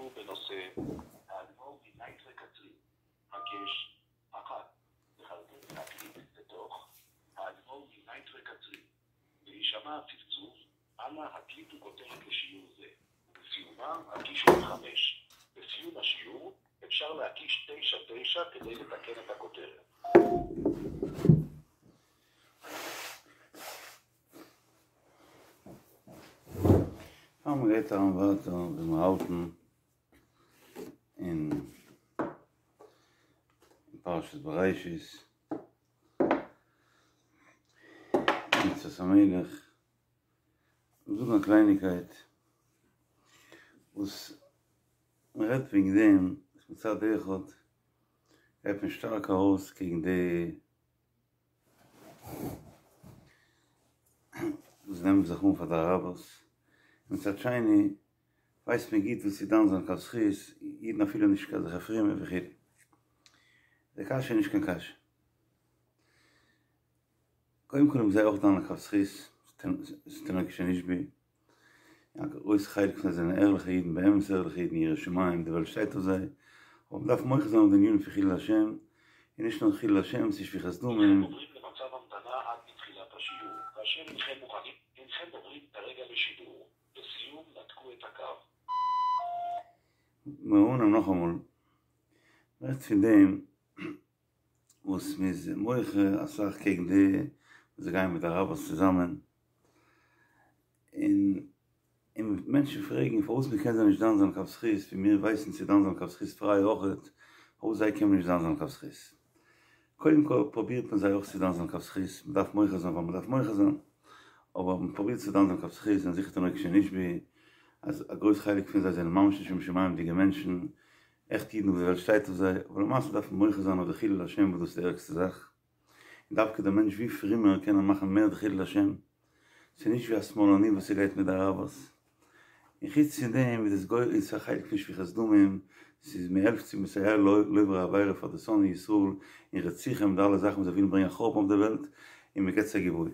לשיעור בנושא האדמו"ר מנייטרא קצרין, הקש, אחת, לחרטט להקליט בתוך האדמו"ר מנייטרא קצרין, בהישמע הצפצוף, אנא הקליטו כותרת לשיעור זה, ובסיומה הקישו חמש. בסיום השיעור אפשר להקיש תשע תשע כדי לתקן את הכותרת. פאר מען גייט אריין ווייטער ווי מיר האלטן אין פרשת בראשית, מצות המלך, זאגן א קלייניגקייט וואס מען רעדט וועגן דעם מצד אחד גייט מען שטארק ארויס קעגן די וואס נעמען זיך אן פאר די אראבערס, מצד שני ווייסט מען גוט וואס צו דן זיין לכף זכות, אידן אפילו נישט קיין אזעלכע פרומע וכו'. די קשיא איז נישט קיין קשיא. קודם כל האבן זיי אויך דן לכף זכות, ס'איז תינוק שנשבו, א גרויס חלק פון זיי זענען ערליכע אידן, באמת ערליכע אידן, יראי שמים, די וועלט שטייט אויף זיי, אבער מ'דארף מוחה זיין אויף די ענינים פון חילול השם, און נישט נאר חילול השם, ס'איז שפיכת דמים. הנכם עוברים למצב המתנה עד לתחילת השיעור, כאשר הנכם מוכנים, הנכם עוברים כרגע לשידור, לסיום נתקו את הקו. מיר אנהייבן נאכאמאל, מ'רעדט פון דעם וואס מ'איז מוחה אסאך קעגן די וואס זיי גייען מיט די אראבערס צוזאמען, און און מענטשן פרעגן פארוואס מ'קען זיי נישט דן זיין לכף זכות, ווי מיר ווייסן צו דן זיין לכף זכות פריי אויכעט, פארוואס זיי קען מען נישט דן זיין לכף זכות? קודם כל פרובירט מען זיי אויך צו דן זיין לכף זכות, מ'דארף מוחה זיין ווייל מ'דארף מוחה זיין, אבער מ'פרובירט צו דן זיין לכף זכות זענען זיכער תינוק שנשבו, אז א גרויס חלק פון זיי זענען ממש נישט לשם שמים'דיגע מענטשן, עכט אידן וואס די וועלט שטייט אויף זיי, אבער למעשה דארף מען מוחה זיין אויף די חילול השם וואס דאס איז די ערגסטע זאך, און דווקא דער מענטש ווי פרומער קען ער מאכן מער די חילול השם, ס'איז נישט ווי א שמאלני וואס ס'גייט מיט די אראבערס, און חוץ פון דעם איז עס גורם איז א חלק פון שפיכת דמים, ס'איז מ'העלפט צו מסייע לעוברי עבירה פאר די שונאי ישראל און רציחה מיט די אלע זאכן וואס זיי ווילן ברענגען א חורבן אויף די וועלט, און מ'געט זיי גיבוי.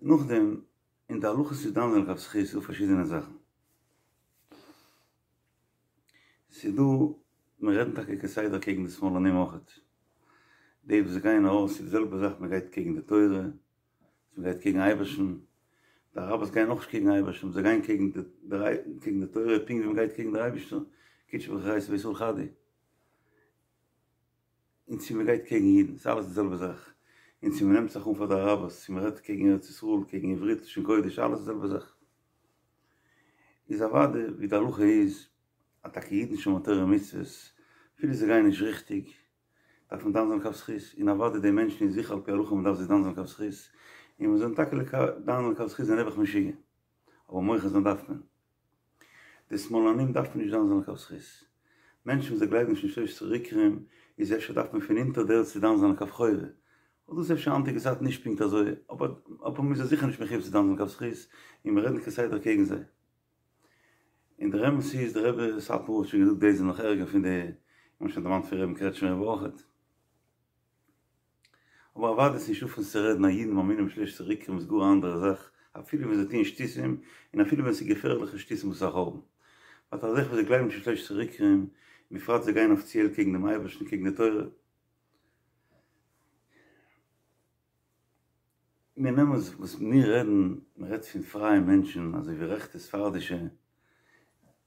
נאכדעם אין די הלכות צו דן זיין לכף זכות איז דא פארשידענע זאכן. ס'איז דא, מיר רעדן טאקע כסדר קעגן די שמאלנים אויכעט. די וואס גייען ארויס איז די זעלבע זאך מען גייט קעגן די תורה, מען גייט קעגן אייבערשטן, די אראבערס גייען אויך נישט קעגן אייבערשטן, זיי גייען קעגן די קעגן די תורה פונקט ווי מען גייט קעגן דער אייבערשטער, קודשא בריך הוא אתא וישראל חד הוא. און צו מען גייט קעגן אידן, ס'איז אלעס די זעלבע זאך, און צו מען נעמט זיך אן פאר די אראבערס, צו מען רעדט קעגן ארץ ישראל, קעגן עברית, לשון קודש, אלעס די זעלבע זאך. איז אוודאי ווי די הלכה איז, אז טאקע אידן שומרי תורה ומצוות, אפילו זיי גייען נישט ריכטיג, דארף מען דן זיין לכף זכות, און אוודאי די מענטשן איז זיכער על פי הלכה מען דארף זיי דן זיין לכף זכות, און מיר זענען טאקע דן לכף זכות זענען נעבעך משוגע, אבער מוחה זיין דארף מען. די שמאלנים דארף מען נישט דן זיין לכף זכות. מענטשן וואס זיי גלייבן נישט אין שלושת עיקרים איז אפשר דארף מען פון אונטער דער ערד צו דן זיין לכף חובה. אבער דאס איז אפשר היינטיגע צייט נישט פונקט אזוי, אבער אבער מ'איז זיי זיכער נישט מחויב צו דן זיין לכף זכות, און מיר רעדן כסדר קעגן זיי. און דער אמת איז דער רבי סאטמאר האט שוין געזאגט די זענען נאך ערגער פון די, מ'האט שוין דערמאנט פון רבי'ן קרעטשמער רבי אויכעט. אבער אוודאי איז נישטא פון צו רעדן אז אידן מאמינים בשלושת עיקרים איז גאר א אנדערע זאך, אפילו ווען זיי טוען שטותים, און אפילו ווען ס'איז געפערליכע שטותים וואס איז א חורבן. באט אזעלכע וואס זיי גלייבן נישט אין שלושת עיקרים, בפרט זיי גייען אפיציעל קעגן דעם אייבערשטן קעגן די תורה. מיר נעמען וואס מיר רעדן, מען רעדט פון פרייע מענטשן אזוי ווי רעכטע ספרדישע,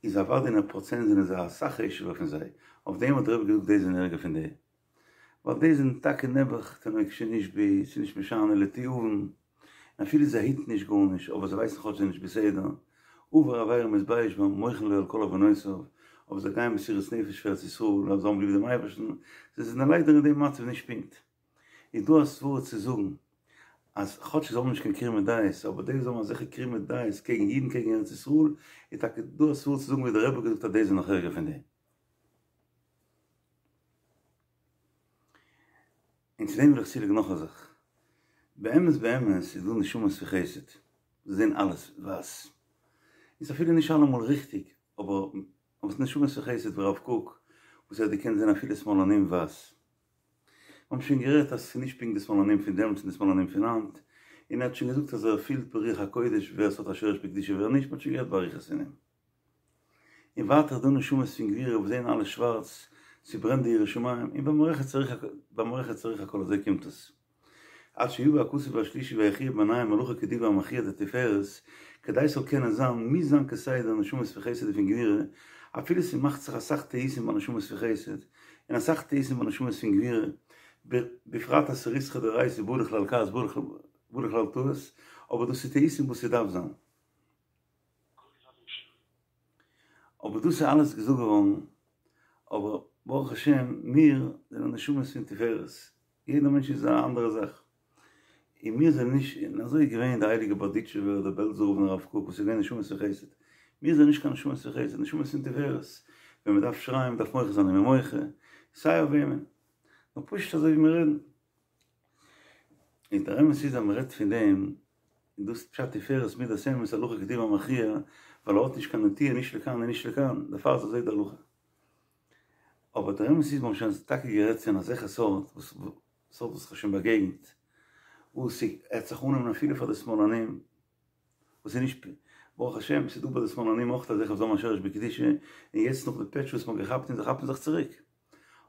איז אוודאי אין א פראצענט זענען זיי אסאך חשוב'ער פון זיי, אויף דעם האט דער רבי געזאגט די זענען ערגער פון די. ווייל די זענען טאקע נעבעך תינוק שנשבו, ס'איז נישט משנה לתיאבון, און אפילו זיי היטן נישט גארנישט, אבער זיי ווייסן כאטש זיי זענען נישט בסדר, עובר עבירה מתבייש בה, מוחלין לו על כל עוונותיו, אבער זיי גייען מסירות נפש פאר ארץ ישראל, ווייל זיי האבן ליב דעם אייבערשטן, זיי זענען ליידער אין דעם מצב נישט פונקט. איז דא א סברא צו זאגן אז כאטש זיי האבן נישט קיין קרימא דעות, אבער די וואס האבן אזעלכע קרימא דעות קעגן אידן קעגן ארץ ישראל, איז טאקע דא א סברא צו זאגן ווי דער רבי האט געזאגט אז די זענען נאך ערגער פון די. און צו דעם וויל איך צולייגן נאך א זאך. באמת באמת איז דא נשמות פון חסד, זיי זעען אלעס ווייס. איז אפילו נישט אלעמאל ריכטיג, אבער אבער ס'איז נשמות פון חסד ווי הרב קוק, וואס ער האט געקענט זען אפילו שמאלנים ווייס. מיר האבן שוין גערעדט אז ס'איז נישט פונקט די שמאלנים פון דעמאלטס און די שמאלנים פון היינט, און ער האט שוין געזאגט אז ער פילט ברוח הקודש ווער ס'האט א שורש בקדושה ווער נישט, מ'האט שוין גערעדט באריכות פון דעם. און ווייטער איז דא נשמות פון גבורה וואס זעען אלעס שווארץ, ס'ברענט די יראת שמים, און במערכת צריך במערכת צריך הכל אזוי קומט עס. עד שיבא הכתוב השלישי ויכריע ביניהם הלכה כדברי המכריע דתפארת, כדי ס'זאל קענען זיין, מוז זיין כסדר נשמות פון חסד און פון גבורה, אפילו ס'מאכט זיך אסאך טעותים ביי נשמות פון חסד, און אסאך טעותים ביי נשמות פון גבורה, בפרט אז ס'ריתחא דאורייתא בא לכלל כעס בא לכלל טעות, אבער דאס איז טעותים וואס ס'דארף זיין. אבער דאס איז אלעס געזאגט געווארן, אבער ברוך השם מיר זענען נשמות פון תפארת, יעדער מענטש איז א אנדערע זאך, און מיר זענען נישט, און אזוי איז געווען די הייליגע בארדיטשובער, דער בעלזער רב און הרב קוק וואס איז געווען נשמות פון חסד, מיר זענען נישט קיין נשמות פון חסד, נשמות פון תפארת, ווען מען דארף שרייען, מען דארף מוחה זיין איז מען מוחה, סיי אויף וועמען, נאר פשוט אזוי ווי מיר רעדן. און דער אמת איז אז מען רעדט פון דעם, און דאס איז פשט תפארת מידת אמת הלכה כדברי המכריע, ווייל ער האט נישט קיין נטיה נישט לכאן און נישט לכאן, דערפאר איז אזוי די הלכה. אבער דער אמת איז מ'האט שוין טאקע גערעדט פון אזעלכע סארט וואס סארט וואס כ'האב שוין באגעגנט, וואס ס'העט זיך אננעמען אפילו פאר די שמאלנים, וואס איז נישט, ברוך השם ס'איז דא ביי די שמאלנים אויך אזעלכע וואס האבן א שורש בקדושה, און יעצט נאך די פעטש וואס מ'האט געכאפט און זיי כאפן זיך צוריק.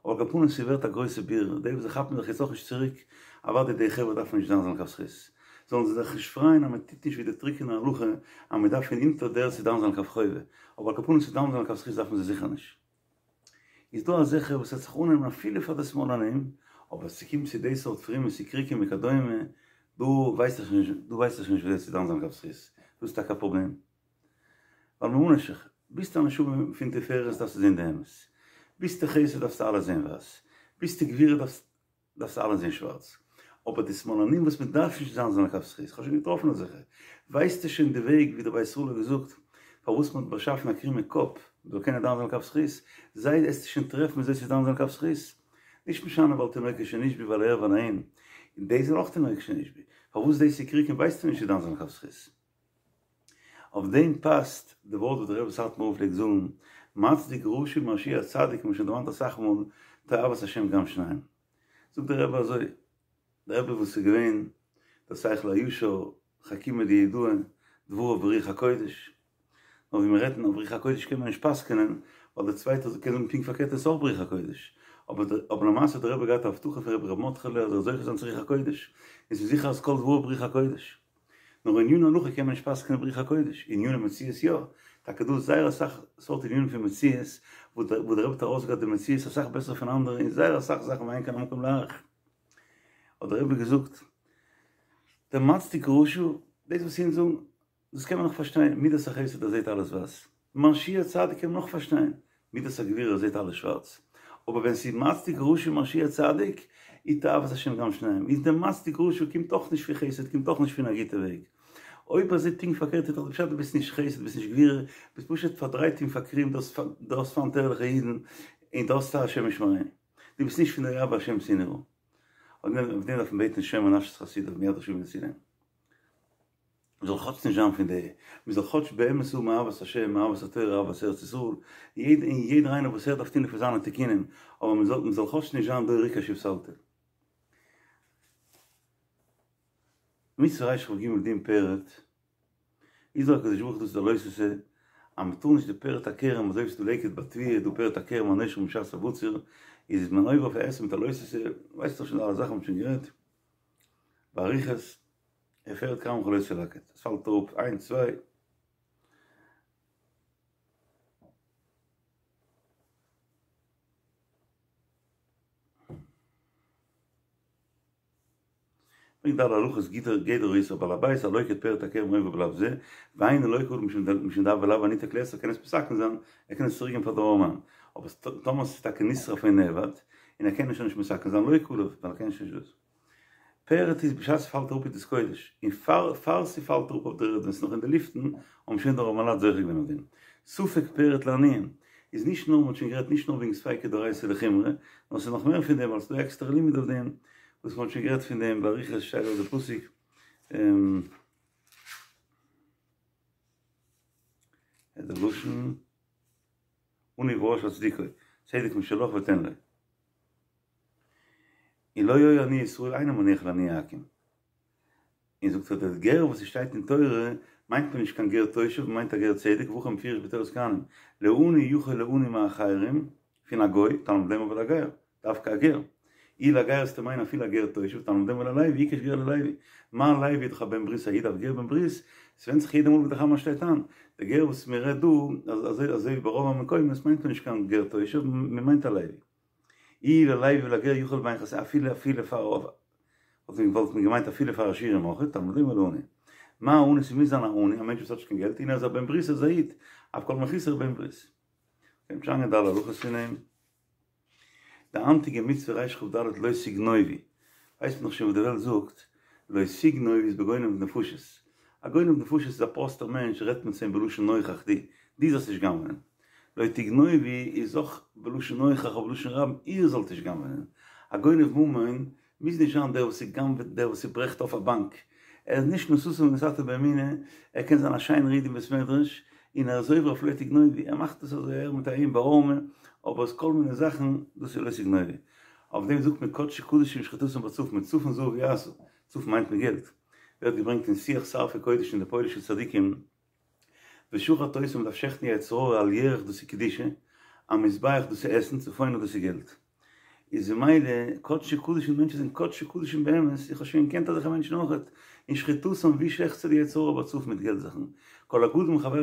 אבער על כל פנים ס'ווערט א גרויסע בירור, די וואס זיי כאפן זיך יעצט אויך נישט צוריק, אוודאי די חברה דארפן נישט דן זיין לכף זכות, זאלן זיי זיך נישט פרייען אז מ'טוט נישט ווי די טרוקענע הלכה אז מ'דארף פון אונטער דער צו דן זיין לכף חובה, אבער על כל פנים צו דן זיין לכף זכות דארפן זיי זיכער נישט. איז דא אזעלכע וואס העט זיך אננעמען אפילו פאר די שמאלנים, אבער ס'קומט צו די סארט פרומע סיקריקים וכדומה, דא ווייס איך נישט, דא ווייס איך נישט וויאזוי צו דן זיין לכף זכות, דאס איז טאקע א פראבלעם. ווייל ממה נפשך, ביסטו א נשמה פון תפארת דארפסטו זען די אמת, ביסטו חסד דארפסטו אלעס זען ווייס, ביסטו גבורה דארפסטו אלעס זען שווארץ, אבער די שמאלנים וואס מען דארף נישט דן זיין לכף זכות, כ'האב שוין געטראפן אזעלכע, ווייסטו שוין די וועג ווי דער בית ישראל האט געזאגט פארוואס מען האט באשאפן א קרומע קאפ מען זאל קענען דן זיין לכף זכות, זיי וועסטו שוין טרעפן וויאזוי צו דן זיין לכף זכות, נישט משנה ווייל תינוקות שנשבו ווייל ער ווייל אהין, און דאס זענען אויך תינוקות שנשבו, פארוואס די סיקריקים ווייסטו נישט צו דן זיין לכף זכות. אויף דעם פאסט די ווארט וואס דער רבי סאטמאר רב פלעגט זאגן, מצדיק רשע ומרשיע צדיק, מ'האט שוין דערמאנט אסאך מאל, תועבת השם גם שניהם. זאגט דער רבי אזוי, דער רבי וואס איז געווען דער שכל הישר, חכימא דיהודאי, דבריו ברוח הקודש, נאר ווי מיר רעדן אויף רוח הקודש קען מען נישט פסק'נען, ווייל דער צווייטער קען זאגן פונקט פארקערט עס איז אויך ברוח הקודש, אבער למעשה האט דער רבי געהאט א הבטחה פון רבי ר' מרדכי'לע אז ער זאל זוכה זיין צו רוח הקודש, און ס'איז זיכער אז כל דבריו ברוח הקודש. נאר עניני הלכה קען מען נישט פסק'נען ברוח הקודש, עניני מציאות יא, טאקע דא זייער אסאך סארט ענינים פון מציאות וואס דער רבי האט ארויסגעהאט די מציאות אסאך בעסער פון אנדערע אין זייער אסאך זאכן ואין כאן המקום להאריך. האט דער רבי געזאגט, דער מצדיק רשע, דאס וואס אונז זאגן, דאס קען מען נאך פארשטיין, מידת החסד ער זעט אלעס ווייס, מרשיע צדיק קען מען נאך פארשטיין, מידת הגבורה ער זעט אלעס שווארץ, אבער ווען ס'איז מצדיק רשע ומרשיע צדיק, איז תועבת השם גם שניהם, איז דער מצדיק רשע קומט אויך נישט פון חסד, קומט אויך נישט פון א גוטע וועג. אויב אזוי פונקט פארקערט איז דאך די פשט דו ביסט נישט חסד, ביסט נישט גבורה, ביסט פשוט פארדרייט און פארקרימט, דו האסט פיינט ערליכע אידן, און דו האסט השם ישמרינו. דו ביסט נישט פון די אוהבי השם שנאו. אויף דעם דארף מען בעטן שומר נפשות חסידיו מיד רשעים יצילם. מ'זאל כאטש נישט זיין פון די, מ'זאל כאטש באמת האבן אהבת השם, אהבת התורה, אהבת ארץ ישראל, יעדער און יעדער איינער וואס ער דארף טון לפי זיינע תיקונים, אבער מ'זאל מ'זאל כאטש נישט זיין דור עקש ופתלתול. מצוה רכ"ג דין פרט, איז דאך הקדוש ברוך הוא דאס איז א לא תעשה, אז מ'טאר נישט די פרט הכרם אזוי ווי ס'איז דא לקט ביי תבואה איז דא פרט הכרם הנושר משעת הבציר, איז מען עובר אויף א עשה מיט א לא תעשה, ווייסט דאך שוין אלע זאכן מ'האט שוין גערעדט באריכות. ופרד כרמך לא תלקט, עס פאלט אראפ איינס צוויי. ברענגט אלע הלכות גדר גדר האיסור בעל הבית הלוקט פרד הכרם עובר בלאו זה, ואינו לוקה עליו משום דהוי לאו הניתק לאיסור קען עס מתקן זיין, ער קען עס צוריק געבן פאר די ארעמאן, אבער טאמער ס'איז טאקע נשרף און נאבד, און ער קען עס שוין נישט מתקן זיין לוקה עליו, ווייל ער קען שוין נישט דאס. פרד איז בשעת ס'פאלט אראפ איז דאס קודש, און פאר פאר ס'פאלט אראפ אויף דער ערד ווען ס'איז נאך אין די לופטן, האבן שוין די ארעמעלייט זוכה געווען אויף דעם. ספק פרד לעניים, איז נישט נאר, מ'האט שוין גערעדט נישט נאר וועגן ספיקא דאורייתא לחומרא, נאר ס'איז נאך מער פון דעם ווייל ס'איז דא עקסטערע לימוד אויף דעם, וואס מ'האט שוין גערעדט פון דעם באריכות שטייט דארט די פסוק, די לשון, עני ורש אצדיקו, צדק משלך ותן לו. און לא היו עניי ישראל אינו מניח לעני עכו"ם. און זאגט ער דער גר וואס עס שטייט אין תורה. מיינט מען נישט קיין גר תושב, מ'מיינט א גר צדק, והכי מפורש בתורת כהנים, לעני יכול לעני מאחרים, פון א גוי, תלמוד לומר ולגר, דווקא א גר. אי לגר וועסטו מיינען אפילו א גר תושב, תלמוד לומר ללוי, היקש גר ללוי. מה לוי איז דאך א בן ברית א איד אף גר בן ברית, ס'ווענדט זיך יעדע מאל ווי די חמה שטייט איין. די גר וואס מ'רעדט דא, אזוי אזוי ווי ברוב המקומות מיינט מען נישט קיין גר תושב, מ'מיינט א לוי. אי ללוי ולגר יכול בין חסידים אפילו אפילו פאר וואלט מען וואלט מען געמיינט אפילו פאר עשירים אויך, תלמוד לומר לעני. מה עני ס'מוז זיין א עני, א מענטש וואס האט נישט קיין געלט, און ער איז א בן ברית ער איז א איד, אף כל מחוסר בן ברית. קען נישט איינגיין די אלע הלכות פון אים. די היינטיגע מצוה רכ"ד לא תגנובו, ווייסט מען דאך שוין וואס די וועלט זאגט, לא תגנוב איז בגונב נפשות, א גונב נפשות איז א פראסטער מענטש רעדט מען צו אים בלשון נוכח דו, דו זאלסט נישט גנב'נען, לא תגנובו איז אויך בלשון נוכח אבער בלשון רבים איר זאלט נישט גנב'נען, א גונב ממון מוז נישט זיין דער וואס ס'גנב'עט דער וואס ס'ברעכט אויף א באנק, ער איז נישט נשאת ונתת באמונה, ער קען זיין א שיינער איד אין בית מדרש, און ער איז עובר אויף לא תגנובו, ער מאכט עס אזוי ער מיט אים בעלמא, אבער עס כל מיני זאכן, דאס איז לא תגנובו. אויף דעם זאגט מען קדשי קדשים שחיטתם בצפון, מצפון זהב יעשו, צפון מיינט מען געלט, ווערט געברענגט אין שיח שרפי קודש אין די פוילישע צדיקים, ושחט אותו מ'דארף שעכטן יצר הרע על ירך דאס איז קדושה, המזבח דאס איז עסן, צפונה דאס איז געלט. איז ממילא קדשי קדשים מענטשן זענען קדשי קדשים באמת, איך האב שוין געקענט אזעלכע מענטשן אויכעט, און שחיטתם ווי שעכטסטו די יצר הרע בצפון מיט געלט זאכן, כל הגדול מחברו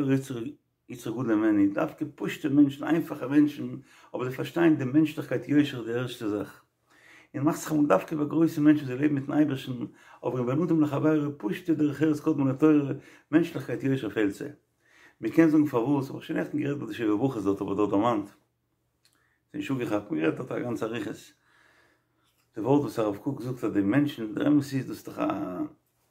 יצרו גדול הימנו, דווקא פשוטע מענטשן איינפאכע מענטשן, אבער זיי פארשטייען די מענטשליכקייט יושר איז די ערשטע זאך. און מאכט זיך אמאל דווקא ביי גרויסע מענטשן זיי לעבן מיטן אייבערשטן, אבער אין בין אדם לחבירו פשוטע דרך ארץ קדמה לתורה, מענטשליכקייט יושר פעלט זיי. מען קען זאגן פארוואס, האב איך שוין נעכטן גערעדט ביי די שבע ברכות דארט האב איך דארט דערמאנט, ס'איז נישט אפגעכאפט, מען גערעדט דארט א גאנצע אריכות, די ווארט וואס הרב קוק זאגט אז די מענטשן, דער אמת איז דאס איז דאך א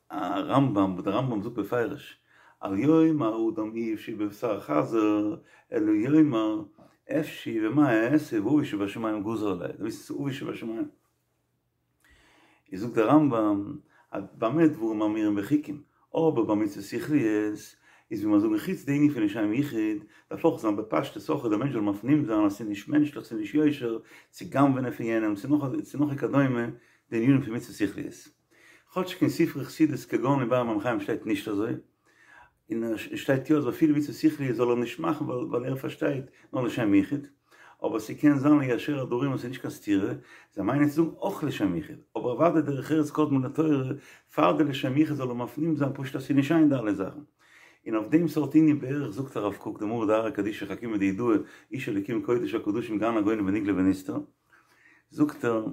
א רמב"ם וואס דער רמב"ם זאגט בפירוש אל יאמר אדם איוב שהוא בבשר חזיר אלא יאמר אפשי ומה אעשה ואבי שבשמים גזר עלי, דו ווייסט וואס איז אבי שבשמים? איז זאגט דער רמב"ם אז במה דברים אמורים בחוקים, אבער ביי מצוות שכליות איז ווי מיר זאגן חוץ די ענין פון לשם יחוד, דארף אויך זיין בפשטות אויך אז דער מענטש זאל מפנים זיין אז ס'איז נישט מענטשליך ס'איז נישט יושר צו גנב'ענען פון יענעם צו נאך צו נאך וכדומה די ענינים פון מצוות שכליות. כאטש אין ספרי חסידות כגון אין באר מים חיים שטייט נישט אזוי, און עס שטייט יא אז אפילו מצוות שכליות זאל ער נישט מאכן ווייל ער פארשטייט נאר לשם יחוד, אבער ס'קען זיין ליישר הדברים אז ס'איז נישט קיין סתירה, זיי מיינען צו זאגן אויך לשם יחוד, אבער אוודאי דרך ארץ קדמה לתורה, פאר די לשם יחוד זאל ער מפנים זיין פשוט אז ס'איז נישט שיין די אלע זאכן. און אויף דעם סארט ענין בערך זאגט הרב קוק די מרא דארעא קדישא חכימא דידעא איש אלקים קודש הקדשים גאון הגאונים בנגלה ונסתר זאגט ער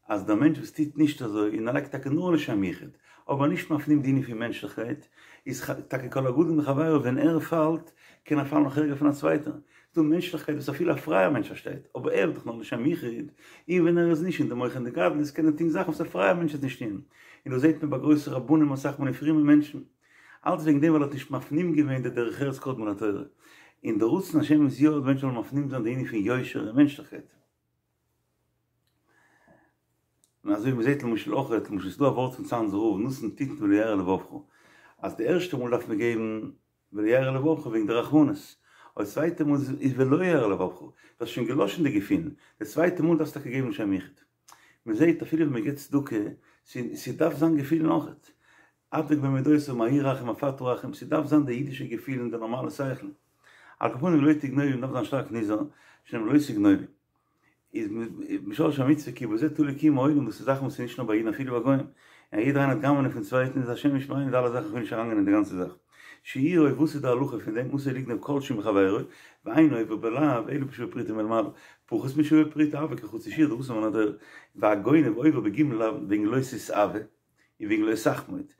אז דער מענטש וואס טוט נישט אזוי און ער לייגט טאקע נאר לשם יחוד, אבער נישט מפנים די ענין פון מענטשליכקייט, איז טאקע כל הגדול מחבירו ווען ער פאלט קען ער פאלן נאך ערגער פון א צווייטער. ס'דא מענטשליכקייט וואס אפילו א פרייער מענטש פארשטייט, אבער ער איז דאך נאר לשם יחוד, און ווען ער איז נישט אין די מוחין דגדלות קען ער טון זאכן וואס א פרייער מענטש וועט נישט טון. און דאס זעט מען ביי גרויסע רבנים אסאך מאל און פרומע מענטשן. אלץ וועגן דעם ווייל ער האט נישט מפנים געווען די דרך ארץ קדמה לתורה. און די רצון השם איז יא אז מענטשן זאלן מפנים זיין די ענין פון יושר און מענטשליכקייט. און אזוי ווי מ'זעט למשל אויך, למשל ס'איז דא א ווארט פון צאנזער רב, נתון תתן ולא ירע לבבך, אז די ערשטע מאל דארף מען געבן ולא ירע לבבך וועגן די רחמנות, אבער די צווייטע מאל איז ולא ירע לבבך, דו האסט שוין געלאשן די געפילן, די צווייטע מאל דארפסטו טאקע געבן לשם יחוד. מ'זעט אפילו ווען מ'געבט צדקה, ס'דארף זיין געפילן אויך. הדבק במידותיו מה הוא רחום אף אתה רחום, ס'דארף זיין די אידישע געפילן, די נארמאלע שכל. על כל פנים לא תגנובו מ'דארף זיין שטארק נזהר, שנאמר לא תגנובו. איז משרש המצוה כי בזה תלוי קיום העולם דאס איז זאכן וואס איז נישט נאר ביי אידן אפילו ביי גוים, און יעדער איינער וועט גנב'נען פון צווייטן איז השם ישמרינו די אלע זאכן כ'וויל נישט אריינגיין אין די גאנצע זאך. שיעורו וואס איז די הלכה פון דעם אסור לגנוב כל שהוא מחבירו ואינו עובר בלאו אלא בשווה פרוטה מלמעלה פחות משוה פרוטה הוי כחצי שיעור דאסור מן התורה והגונב עובר בג' לאוין וועגן לא תתאוה און וועגן לא תחמוד.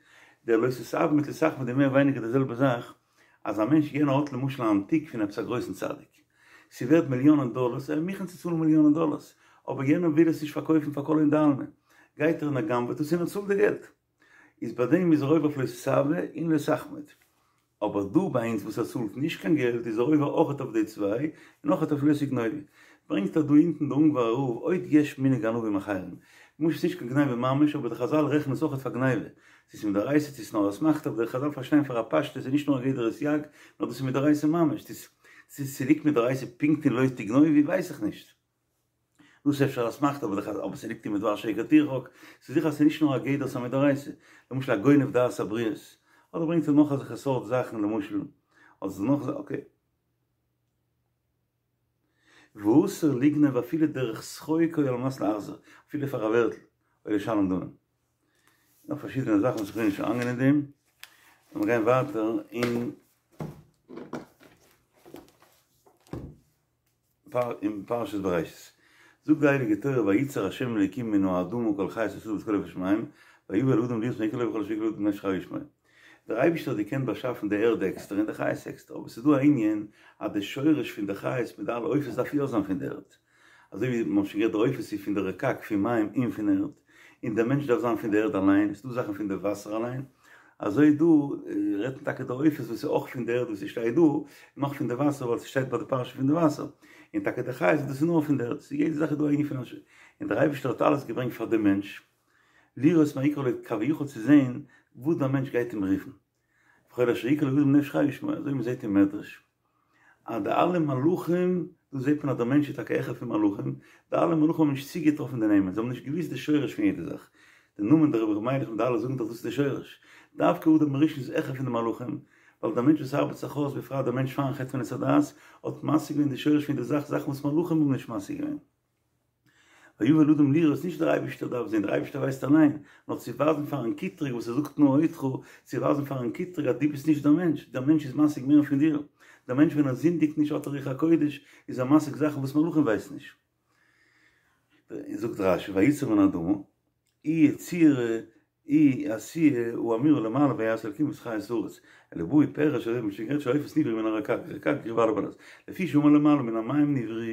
דער לא תתאוה מיט לא תחמוד איז מער ווייניגער די זעלבע זאך, אז א מענטש יענער האט למשל א אנטיק פון עפעס א גרויסן צדיק, ס'ווערט מיליאנען דאלערס, ער איז מוכן צו צאלן מיליאנען דאלערס, אבער יענער וויל עס נישט פארקויפן פאר כל הון דעלמא, גייט ער און ער גנב'עט עס און ער צאלט די געלט. איז ביי דעם איז ער עובר אויף לא תתאוה און לא תחמוד. אבער דא ביי אונז וואס ער צאלט נישט קיין געלט איז ער עובר אויכעט אויף די צוויי און אויכעט אויף לא תגנובו. ברענגט ער דא אונטן די אונגווארער רב עוד יש מנהג גנבים אחרים. למשל ס'נישט קיין גניבה ממש אבער די חזל רעכענען עס אויכעט פאר גניבה. צו ס'איז מדאורייתא צו ס'איז נאר אסמכתא אבער די חזל פארשטיין פאר א פשטות איז נישט נאר א גדר סייג נאר דאס איז מדאורייתא ממש. צו ס'ליגט מדאורייתא פונקט אין לא תגנובו ווייס איך נישט. דאס איז אפשר אסמכתא אבער די אבער ס'ליגט אין מדבר שקר תרחק, ס'איז זיכער אז ס'איז נישט נאר א גדר ס'איז מדאורייתא, למשל א גונב דעת הבריות. אדער ברענגט ער נאך אזעלכע סארט זאכן למשל, אדער נאך אקעי. ואסור לגנוב אפילו דרך שחוק או על מנת להחזיר, אפילו פאר א ווערטל, או לשלם דמים. נאך פארשידענע זאכן וואס איך וויל נישט אריינגיין אין דעם, לאמיר גיין ווייטער אין אין פרשת בראשית. זאגט די הייליגע תורה וייצר ה' אלוקים מן האדמה כל חיות השדה ואת כל עוף השמים ויבא אל האדם לראות מה יקרא לו וכל אשר יקרא לאדם נפש חיה שמו. דער אייבערשטער האט געקענט באשאפן די ערד עקסטער און די חיות עקסטער, אבער ס'איז דא א ענין אז די שורש פון די חיות מיט די אלע עופות דארף יא זיין פון די ערד, אזוי ווי מ'האט שוין גערעדט די עופות איז פון די רקק פון מים און פון ערד, און דער מענטש דארף זיין פון די ערד אליין, ס'איז דא זאכן פון די וואסער אליין, אזוי דא רעדט מען טאקע די עופות וואס איז אויך פון די ערד וואס ס'שטייט דא, און אויך פון די וואסער ווייל ס'שטייט ביי די פרשה פון די וואסער, און טאקע די חיות דאס איז נאר פון די ערד, ס'איז יעדע זאך איז דא א ענין פון א ש, און דער אייבערשטער האט אלעס געברענגט פאר דעם מענטש, לראות מה יקרא לו כביכול צו זען וואס דער מענטש גייט אים רופן, וכל אשר יקרא לו האדם נפש חיה שמו, אזוי מען זעט אין מדרש אז די אלע מלאכים, דא זעט מען אז דער מענטש איז טאקע העכער פון מלאכים, די אלע מלאכים האבן נישט צוגעטראפן די נעמען, זיי האבן נישט געוואוסט די שורש פון יעדע זאך, די נאמען דער רבי ר' מיילעך מיט די אלע זאגן דאך דאס איז די שורש, דווקא אדם הראשון איז העכער פון די מלאכים, ווייל דער מענטש וואס ארבעט זיך אויס, בפרט דער מענטש פארן חטא פון עץ הדעת, האט משיג געווען די שורש פון יעדע זאך, זאכן וואס מלאכים האבן נישט משיג געווען. ויבא אל האדם לראות, נישט דער אייבערשטער דארף זען, דער אייבערשטער ווייסט אליין, נאר צו ווייזן פארן קטרוג וואס ער זאגט נא אודך, צו ווייזן פארן קטרוג אז דו ביסט נישט דער מענטש, דער מענטש איז משיג מער פון דיר, דער מענטש ווען ער זינדיגט נישט האט ער רוח הקודש, איז ער משיג זאכן וואס מלאכים ווייסן נישט. זאגט רשי וייצר מן האדמה, היא יצירה היא עשיה האמורה למעלה ויעש אלקים את חית הארץ, אלא בא ופירש אזוי ווי מ'האט שוין גערעדט שהעופות נבראו מן הרקק, רקק קריב א' בלע"ז, לפי שאמר למעלה מן המים נבראו,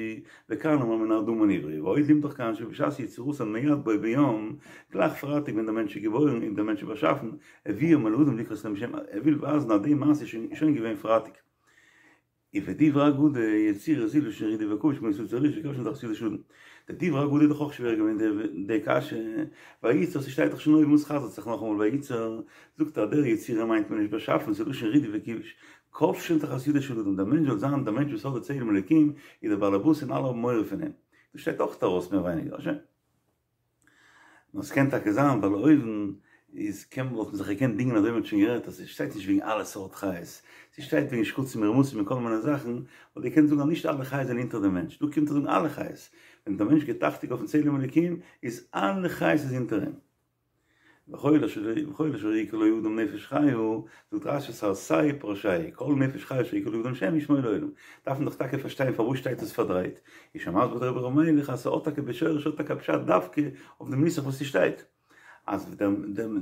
וכאן אמר מן האדמה נבראו, ועוד לימדך כאן שבשעת יצירתן מיד בו ביום, גלייך פרייטאג ווען דער מענטש איז געבוירן און דער מענטש איז באשאפן, הביאם אל האדם לקרות להם שם, ער וויל ווייזן אז די מעשה איז שוין געווען פרייטאג. ובדברי אגדה, יצירה זו לשון רידוי וכבוש כמו יצר ריש וכבשן תחת ידו של אדם. די דברי אגדה איז דאך אויך שווער געווען די קשיא, וייצר ס'שטייט דאך שוין אויבן וואס חזר'ט זיך נאכאמאל וייצר, זאגט ער אז דער יצירה מיינט מען נישט באשאפן ס'איז לשון רידוי וכיבוש, כובשין תחת ידו של אדם, דער מענטש זאל זיין דער מענטש וואס האט די צלם אלוקים איז דער בעל הבית און אלע האבן מורא פון אים. דאס שטייט אויך ארויס מער ווייניגער. שוין. נאר ס'קען טאקע זיין ווייל אויבן איז קען וואלט מען זיך געקענט דינגען אזוי ווי מ'האט שוין גערעדט אז ס'שטייט נישט וועגן אלע סארט חיות, ס'שטייט וועגן שקצים ורמשים און כל מיני זאכן, וואלט געקענט זאגן אז נישט אלע חיות זענען אונטער דעם מענטש, דא קומט ער זאגן אלע חיות, ווען דער מענטש גיבט אכטונג אויפן צלם אלוקים איז אלע חיות איז אונטער אים. וכל אשר וכל אשר יקרא לו אדם נפש חיה, זאגט רשי סרסיה פרשיה, כל נפש חיה אשר יקרא לו אדם שם שמו לעולם. דארף מען דאך טאקע פארשטיין פארוואס שטייט עס פארדרייט. איז שוין מסביר דער רבי ר' מיילעך אז ס'האט טאקע בשורש האט טאקע א פשט דווקא אויף דעם נוסח וואס ס'שטייט. אז דער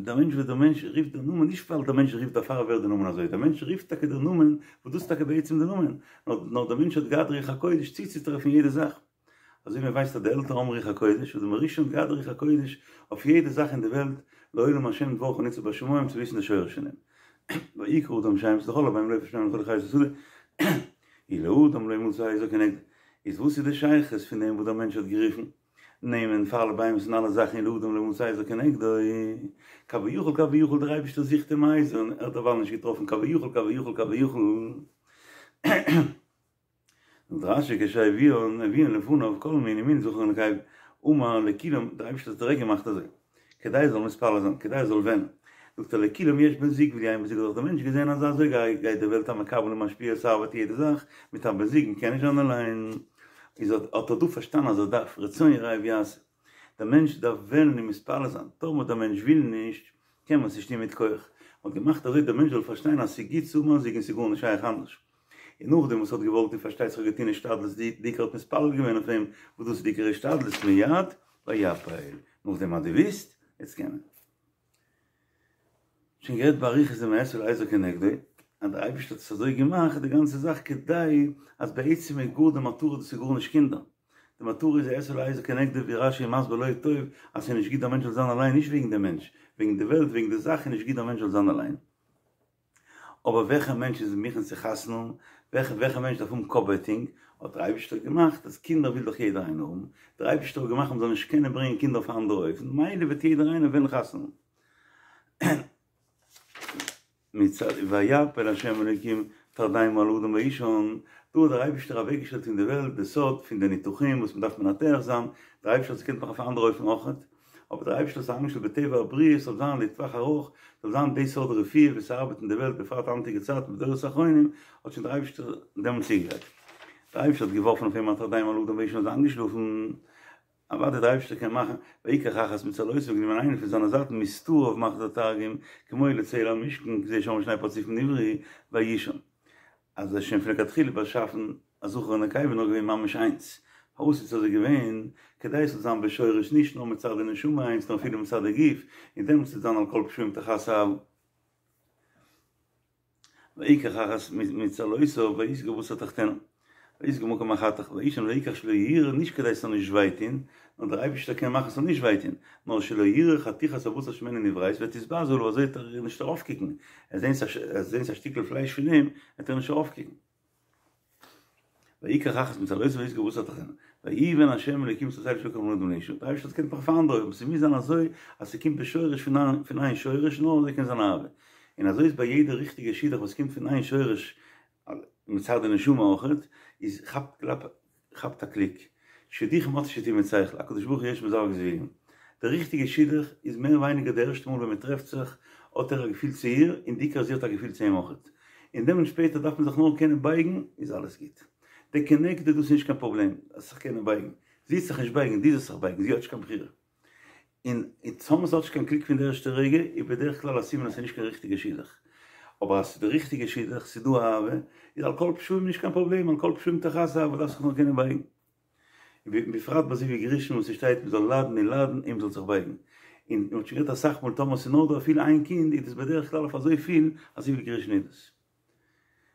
דער מענטש וואס דער מענטש רופט דער נאמען נישט ווייל דער מענטש רופט דערפאר ווערט דער נאמען אזוי, דער מענטש רופט טאקע דער נאמען וואס דאס איז טאקע בעצם דער נאמען, נאר נאר דער מענטש האט געהאט רוח הקודש צוצוטרעפן יעדע זאך. אזוי ווי מען ווייסט אז די עלטערן האבן רוח הקודש, אדם הראשון האט געהאט רוח הקודש אויף יעדע זאך אין די וועלט, לעולם השם דברך נצב בשמים צו וויסן די שורש פון דעם. ויקרא האדם שמות לכל הבהמה ולעוף השמים ולכל חיות השדה, ולאדם לא מצא עזר כנגדו. איז וואס איז די שייכות פון דעם וואס דער מענטש האט גערופן נעמען פאר אלע בהמות און אלע זאכן ולאדם לא מצא עזר כנגדו? כביכול כביכול דער אייבערשטער זוכט אים א עזר און ער האט דערווייל נישט געטראפן כביכול כביכול כביכול. זאגט רשי כשהביאן הביאן לפניו כל מין ומין זכר ונקבה אמר לכולם דער אייבערשטער האט דירעקט געמאכט אזוי כדי ער זאל מתפלל זיין כדי ער זאל וועלן זאגט ער לכולם יש בן זוג ולי אין בן זוג האט דאך דער מענטש געזען אז אזוי גייט די וועלט א מקבל און משפיע עס ארבעט יעדע זאך מיט א בן זוג מען קען נישט זיין אליין איז האט ער דא פארשטאנען אז ער דארף רצון יראיו יעשה דער מענטש דארף וועלן און מתפלל זיין טאמער דער מענטש וויל נישט קען מען עס נישט טון מיט כח מען האט געמאכט אזוי דער מענטש זאל פארשטיין אז ס'איז גוט צו האבן א זוג און ס'איז גארנישט שייך אנדערש. און נאכדעם וואס האט געוואלט און פארשטייט זיך האט געטון השתדלות די די עיקר האט מתפלל געווען אויף אים וואס דאס איז די עיקר השתדלות מיד ויפל נאכדעם אז דו ווילסט יעצט קען מען. שוין גערעדט באריכות דעם אעשה לו עזר כנגדו אז דער אייבערשטער האט עס אזוי געמאכט די גאנצע זאך כדי אז בעצם איז גאר די מטרה דאס איז גארנישט קינדער די מטרה איז אעשה לו עזר כנגדו ווי רשי איז מסביר לא טוב אז ס'איז נישט גוט דער מענטש זאל זיין אליין נישט וועגן דעם מענטש וועגן די וועלט וועגן די זאך איז נישט גוט דער מענטש זאל זיין אליין. אבער וועלכע מענטש איז מוכן צו חתונה האבן, וועלכע וועלכע מענטש דארף האבן קאפ-ווייטאג, האט דער אייבערשטער געמאכט אז קינדער וויל דאך יעדער איינער האבן, דער אייבערשטער האט געמאכט מען זאל נישט קענען ברענגען קינדער אויף א אנדערע אופן, מילא וועט יעדער איינער וועלן חתונה האבן. מצד ויפל ה' אלוקים תרדמה על האדם ויישן, דא האט דער אייבערשטער אוועקגעשטעלט אין די וועלט די סוד פון די ניתוחים וואס מען דארף מנתח זיין, דער אייבערשטער האט עס געקענט מאכן אויף א אנדערע אופן אויכעט. אבער דער אייבערשטער האט עס איינגעשטעלט בטבע הבריאה ס'זאל זיין לטווח ארוך, זאל זיין די סארט רפואה ווי ס'ארבעט אין די וועלט בפרט היינטיגע צייטן בדורות האחרונים, האט שוין דער אייבערשטער דעמאלטס צוגעגרייט. דער אייבערשטער האט געווארפן אויף אים א תרדמה על האדם וישן איז איינגעשלאפן, אוודאי דער אייבערשטער קען מאכן, ויקח אחת מצלעותיו גענומען איינע פון זיינע זייטן מסתריו מאכט דער תרגום, כמו לצלע המשכן, זה שם שני פרצופים נבראו, ויישן. אז ער איז שוין פון לכתחילה באשאפן א זכר און נקבה נאר געווען ממש איינס, פארוואס איז עס אזוי געווען? כדי עס זאל זיין בשורש נישט נאר מצד די נשמה איינס נאר אפילו מצד די גוף, און דעמאלטס וועט זיין על כל פשעים תכסה אהבה. ויקח אחת מצלעותיו ויסגור בשר תחתנה, ויסגור מקום החתך, ויישן ויקח שלא יראה, נישט כדי עס זאל נישט וויי טון, נאר דער אייבערשטער קען מאכן עס זאל נישט וויי טון, נאר שלא יראה חתיכת הבשר שממנו נבראת ותתבזה עליו אזוי וועט ער נישט ארויפקוקן, ער זעהט א שטיקל פלייש פון אים וועט ער נישט ארויפקוקן. ויקח אחת מצלעותיו ויסגור בשר תחתנה, ויבן ה' אלוקים את הצלע אשר לקח מן האדם לאשה, דער אייבערשטער האט געקענט מאכן אויף אן אנדערע אופן, ס'מוז זיין אזוי אז ס'קומט בשורש פון איין שורש נאר אזוי קען זיין אהבה, און אזוי איז ביי יעדע ריכטיגע שידוך וואס קומט פון איין שורש מצד די נשמה אויכעט, איז כאפט קלאפ כאפט א קליק. שידוכים האט נישט צו טון מיט שכל, הקדוש ברוך הוא יש מזווג זיווגים. די ריכטיגע שידוך איז מער ווייניגער די ערשטע מאל ווען מען טרעפט זיך האט ער א געפיל צו איר און בעיקר זי האט א געפיל צו אים אויכעט. און דעמאלט שפעטער דארף מען זיך נאר קענען בייגן איז אלעס גוט. די כנגדו דאס איז נישט קיין פראבלעם אז זיך קענען בייגן. זי וועט זיך נישט בייגן דו זאלסט זיך בייגן זי האט נישט קיין בחירה. און טאמער ס'האט נישט קיין קליק פון די ערשטע רגע איז בדרך כלל א סימן אז ס'איז נישט קיין ריכטיגע שידוך. אבער אז ס'איז די ריכטיגע שידוך, ס'איז דא אהבה, איז על כל פשעים נישט קיין פראבלעם, על כל פשעים תכסה אהבה, דארפסט זיך נאר קענען בייגן. ובפרט ביי זיווג ראשון וואס ס'שטייט מ'זאל ליידן און ליידן און מ'זאל זיך בייגן. און מ'האט שוין גערעדט אסאך מאל טאמער ס'איז נאר דא אפילו איין קינד איז דאס בדרך כלל אויף אזויפיל אז זיווג ראשון איז דאס.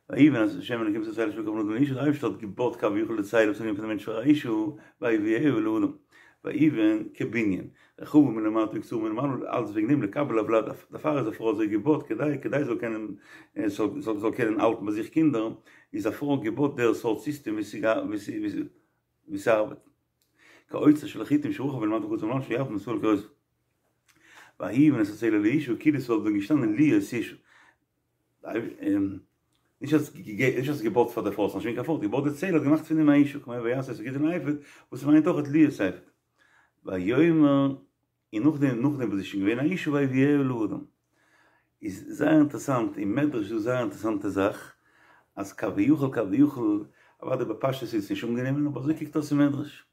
ויבן ה' אלקים את הצלע אשר לקח מן האדם לאשה, דער אייבערשטער האט געבויט כביכול די צלע וואס איז געווען פון די מענטש פאר א אשה, ויביאה אל האדם, ויבן כבנין, רחבה מלמטה וקצרה מלמעלה, אלץ וועגן דעם לקבל הולד, דערפאר איז א פרוי אזוי געבויט כדי כדי זאל קענען זאל קענען האלטן ביי זיך קינדער, איז א פרוי געבויט דער סארט סיסטעם ווי ס'ארבעט. כאוצר של חיטים שרחב מלמטה וקצר מלמעלה שירבה מצוה לקרותיו. ויבן את הצלע לאשה, כאילו ס'וואלט ווען געשטאנען להיות אשה. נישט אז נישט אז געבויט פאר די פרוי, ס'נישט געווען קיין פרוי, געבויט די צלע האט געמאכט פון דעם א אשה, כמו ויעש את הגדעון האפוד, וואס מיינט אויך להיות אפוד. ויאמר, און נאכדעם נאכדעם וואס איז שוין געווען א אשה ויביאה אל האדם. איז זייער אינטערעסאנט, אין מדרש איז דא זייער אינטערעסאנטע זאך, אז כביכול כביכול, אוודאי בפשטות איז עס נישט אנגענומען, אבער אזוי קוקט אויס אין מדרש.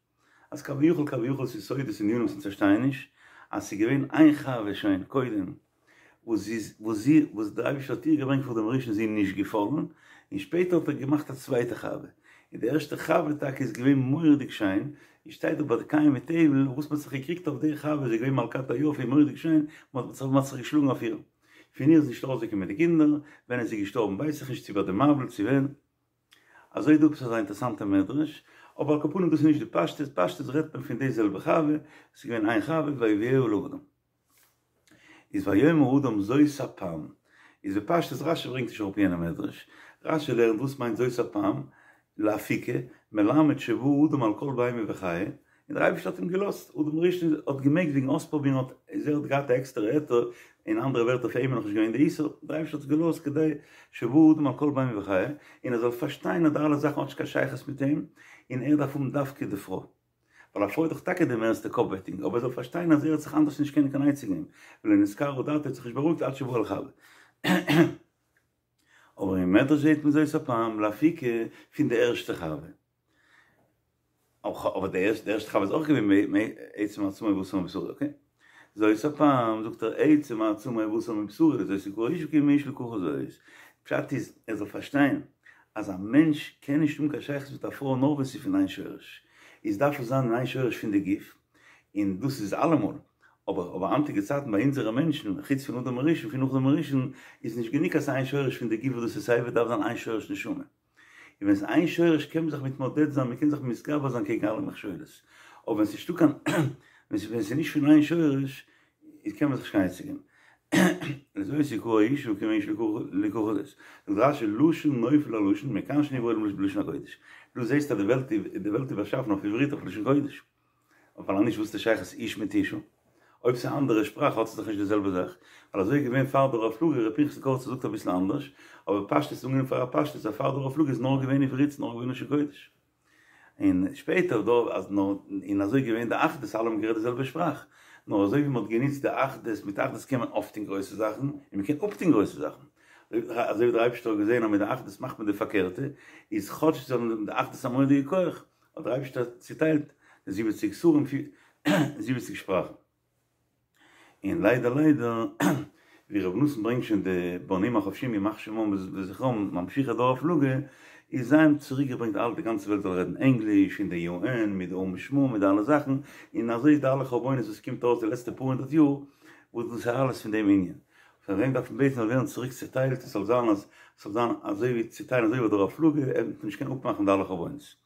אז כביכול כביכול ס'איז סודות ענינים וואס אונז פארשטייען נישט, אז ס'איז געווען איין חווה שוין קודם, וואס זי איז וואס זי וואס דער אייבערשטער האט איר געברענגט פאר אדם הראשון איז זי נישט געפאלן, און שפעטער האט ער געמאכט א צווייטע חווה, און די ערשטע חווה טאקע איז געווען מורא'דיג שיין, און שטייט דא ביי קין מיט הבל וואס מ'האט זיך געקריגט אויף די חווה, זי איז געווען מלכת היופי מורא'דיג שיין, מ'האט זיך מ'האט זיך געשלאגן אויף איר, פון איר איז נישט ארויסגעקומען די קינדער, ווען איז זי געשטארבן ווייס איך נישט צו ביי די מבול צו ווען. אזוי איז דא עפעס אזא אינטערסאנטע מדרש, אבער על כל פנים דאס איז נישט די פשטות, פשטות רעדט מען פון די זעלבע חווה, עס איז געווען איין חווה ויביאה אל האדם. איז ויאמר האדם זאת הפעם, איז בפשטות רשי ברענגט נישט אראפ יענע מדרש, רשי לערנט וואס מיינט זאת הפעם, לאפוקי, מלמד שבא אדם על כל בהמה וחיה, און דער אייבערשטער האט אים געלאזט, אדם הראשון האט געמעגט וועגן אויספרובירן האט איז ער האט געהאט א עקסטערע היתר, אין אנדערע ווערטער פאר אים איז נאכנישט געווען די איסור, דער אייבערשטער האט עס געלאזט כדי שבא אדם על כל בהמה וחיה, און ער זאל פארשטיין אז די אלע זאכן האט נישט קיין שייכות מיט אים, און ער דארף האבן דווקא די פרוי, ווייל א פרוי איז דאך טאקע די מערסטע קאפווייטאג, אבער ער זאל פארשטיין אז ער האט זיך אנדערש נישט קענען קיין עצה געבן, ולא נתקררה דעתו האט זיך נישט בארואיגט עד שבא על חוה. אבער אין מדרש זעהט מען זאת הפעם לאפוקי פון די ערשטע חווה. אבער די ערשטע חווה איז אויך געווען מעצם עצמו בשר מבשרו, אקעי? זאת הפעם זאגט ער עצם עצמו בשר מבשרו, לזאת יקרא אשה כי מאיש לקחה זאת. פשט איז ער זאל פארשטיין אז א מענטש קען נישט האבן קיין שייכות מיט א פרוי נאר ווען ס'איז פון איין שורש, איז דארף עס זיין אין איין שורש פון די גוף, און דאס איז אלעמאל, אבער אבער היינטיגע צייטן ביי אונזערע מענטשן, חוץ פון אדם הראשון, פון נאך אדם הראשון, איז נישט גענוג אז ס'איז איין שורש פון די גוף וואס דאס איז סייווי דארף זיין איין שורש נשמה. און ווען ס'איז איין שורש קען מען זיך מתמודד זיין, מ'קען זיך מתגבר זיין קעגן אלע מכשולות. אבער ווען ס'איז נישטא קיין, ווען ס'איז נישט פון איין שורש, איז קען מען זיך נישט קיין עצה געבן. לזאת יקרא אשה כי מאיש לקחה זאת. זאגט רש"י לשון נופל על לשון מכאן שנברא העולם בלשון הקודש. דו זעסט אז די וועלט די וועלט איז באשאפן אויף עברית אויף לשון קודש. ווייל אנישט וואס איז די שייכות איש מיט אשה? אויב ס'איז א אנדערע שפראך האט עס דאך נישט די זעלבע זאך, ווייל אזוי איז געווען פאר דור הפלגה, ר' פנחס'ל קאריצער זאגט אביסל אנדערש, אבער פשטות איז אנגענומען פאר א פשטות אז פאר דור הפלגה איז נאר געווען עברית ס'איז נאר געווען לשון קודש. און שפעטער דור אז נאר און אזוי איז געווען די אחדות אלע האבן גערעדט די זעלבע שפראך. נאר אזוי ווי מען האט גענוצט די אחדות, מיט אחדות קען מען אויפטון גרויסע זאכן, און מען קען אפטון גרויסע זאכן. אזוי ווי דער אייבערשטער האט געזען אז מיט די אחדות מאכט מען די פארקערטע, איז כאטש זיי האבן די אחדות א מורא'דיגע כח, האט דער אייבערשטער צוטיילט די זיבעציג שרים, זיבעציג שפראכן. און ליידער ליידער, ווי רבי נתן ברענגט שוין די בנים החופשים ימח שמם וזכרם ממשיכי דור הפלגה, איז זיי האבן צוריק געברענגט אלע די גאנצע וועלט זאל רעדן ענגליש, און די יו ען מיט די או"ם שמום מיט די אלע זאכן, און אזוי איז די אלע חורבנות וואס קומט אויס די לעצטע פאר הונדערט יאר, וואס דאס איז אלעס פון דעם ענין. פאר דעם דארף מען בעטן זאל ווערן צוריק צוטיילט, עס זאל זיין אז עס זאל זיין אזוי ווי צוטיילן אזוי ווי דור הפלגה, ער וועט נישט קענען אפמאכן די אלע חורבנות.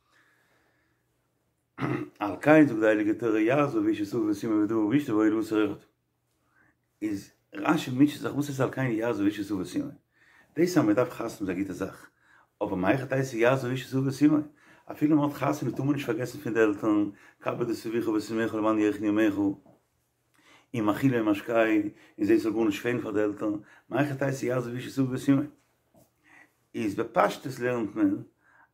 על כן זאגט די הייליגע תורה יעזוב איש את אביו ואת אמו ודבק באשתו והיו לבשר אחד. איז רשי מוטשעט זיך וואס איז על כן יעזוב איש את אביו ואת אמו? דאס אז מען דארף חתונה איז א גוטע זאך, אבער מהיכי תיתי יעזוב איש את אביו ואת אמו? אפילו מען האט חתונה טאר מען נישט פארגעסן פון די עלטערן, כבד את אביך ואת אמך למען יאריכון ימיך, און מאכילו ומשקהו, און זען ס'זאל גארנישט פעלן פאר די עלטערן, מהיכי תיתי יעזוב איש את אביו ואת אמו? איז בפשטות לערנט מען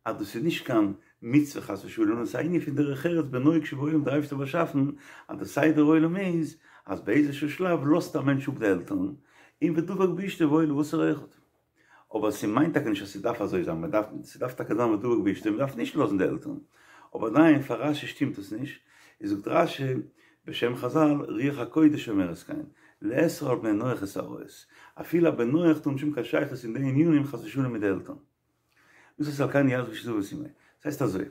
אז דאס איז נישט קיין מצוה חס ושלום, נאר ס'איז א ענין פון דרך ארץ בנוהג שבעולם דער אייבערשטער האט באשאפן אז די סדר עולם איז אז באיזשהו שלב לאזט א מענטש אפ די עלטערן און ודבק באשתו והיו לבשר אחד. אבער ס'מיינט טאקע נישט אז ס'דארף אזוי זיין, מ'דארף, ס'דארף טאקע זיין ודבק באשתו, מ'דארף נישט לאזן די עלטערן. אבער עדיין פאר רשי שטימט עס נישט, איז זאגט רשי בשם חזל, רוח הקודש אומרת כן, לאסור על בני נח את העריות, אפילו א בן נח טאר נישט האבן קיין שייכות אין די ענינים חס ושלום מיט די עלטערן. דאס איז על כן יעזוב איש את אביו ואת אמו. דאס הייסט אזוי,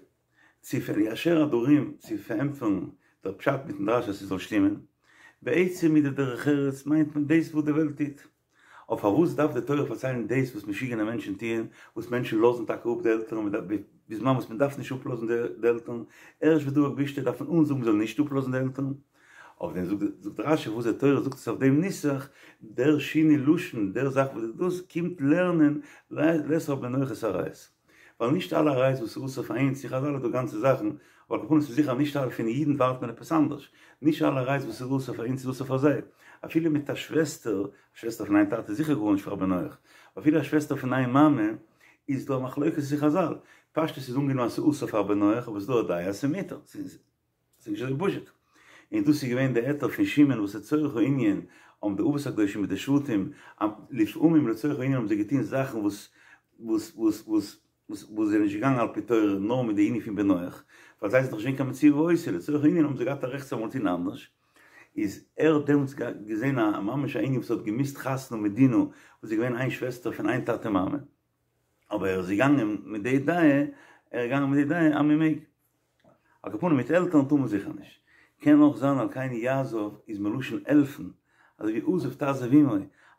צו ליישר הדרים צו פארענטפערן דער פשט מיטן דרש אז ס'זאל שטימען, בעצם מיט די דרך ארץ מיינט מען דאס וואס די וועלט טוט. אבער פארוואס דארף די תורה פארציילן דאס וואס משוגענע מענטשן טוען, וואס מענטשן לאזן טאקע אפ די עלטערן בזמן וואס מען דארף נישט אפלאזן די עלטערן, ערשט ודבק באשתו דארף מען אנזאגן מען זאל נישט אפלאזן די עלטערן? אויף דעם זאגט רשי וואס די תורה זאגט עס אויף דעם נוסח, דער שינוי לשון, דער זאך וואס דאס קומט לערנען לאסור על בני נח את העריות. ווייל נישט אלע עריות וואס איז אסור פאר אונז, אין חזל איז דא גאנצע זאכן, אבער על כל פנים ס'איז זיכער נישט אלע, פון אידן ווארט מען עפעס אנדערש, נישט אלע עריות וואס איז אסור פאר אונז איז אסור פאר זיי, אפילו מיט א שוועסטער, א שוועסטער פון איין טאטע איז זיכער גארנישט פאר א בן נח, אפילו א שוועסטער פון איין מאמע איז דא א מחלוקת אין חזל, פשטות איז אנגענומען אז ס'איז אסור פאר א בן נח אבער ס'איז דא א דעה אז ס'איז מותר, ס'איז נישט אזוי פשוט. און דאס איז געווען די היתר פון שמעון וואס לצורך הענין האבן די אבות הקדושים מיט די שבטים לפעמים לצורך הענין האבן זיי געטון זאכן וואס וואס וואס וואס וואס וואס זענען נישט געגאנגען על פי תורה נאר מיט די ענין פון בן נח, ווייל זיי זענען דאך נישט געווען קיין מצוה ועושה, לצורך הענין האבן זיי געהאט א רעכט צו אמאל טון אנדערש, איז ער האט דעמאלטס געזען א ממש א ענין וואס האט געמוזט חתונה מיט דינה וואס איז געווען איין שוועסטער פון איין טאטע מאמע, אבער ער איז געגאנגען מיט די דעה, ער איז געגאנגען מיט די דעה אז מען מעג. על כל פנים מיט עלטערן טאר מען זיכער נישט. קען אויך זיין על כן יעזוב איז מלשון העלפן, אזוי ווי עזוב תעזוב עמו,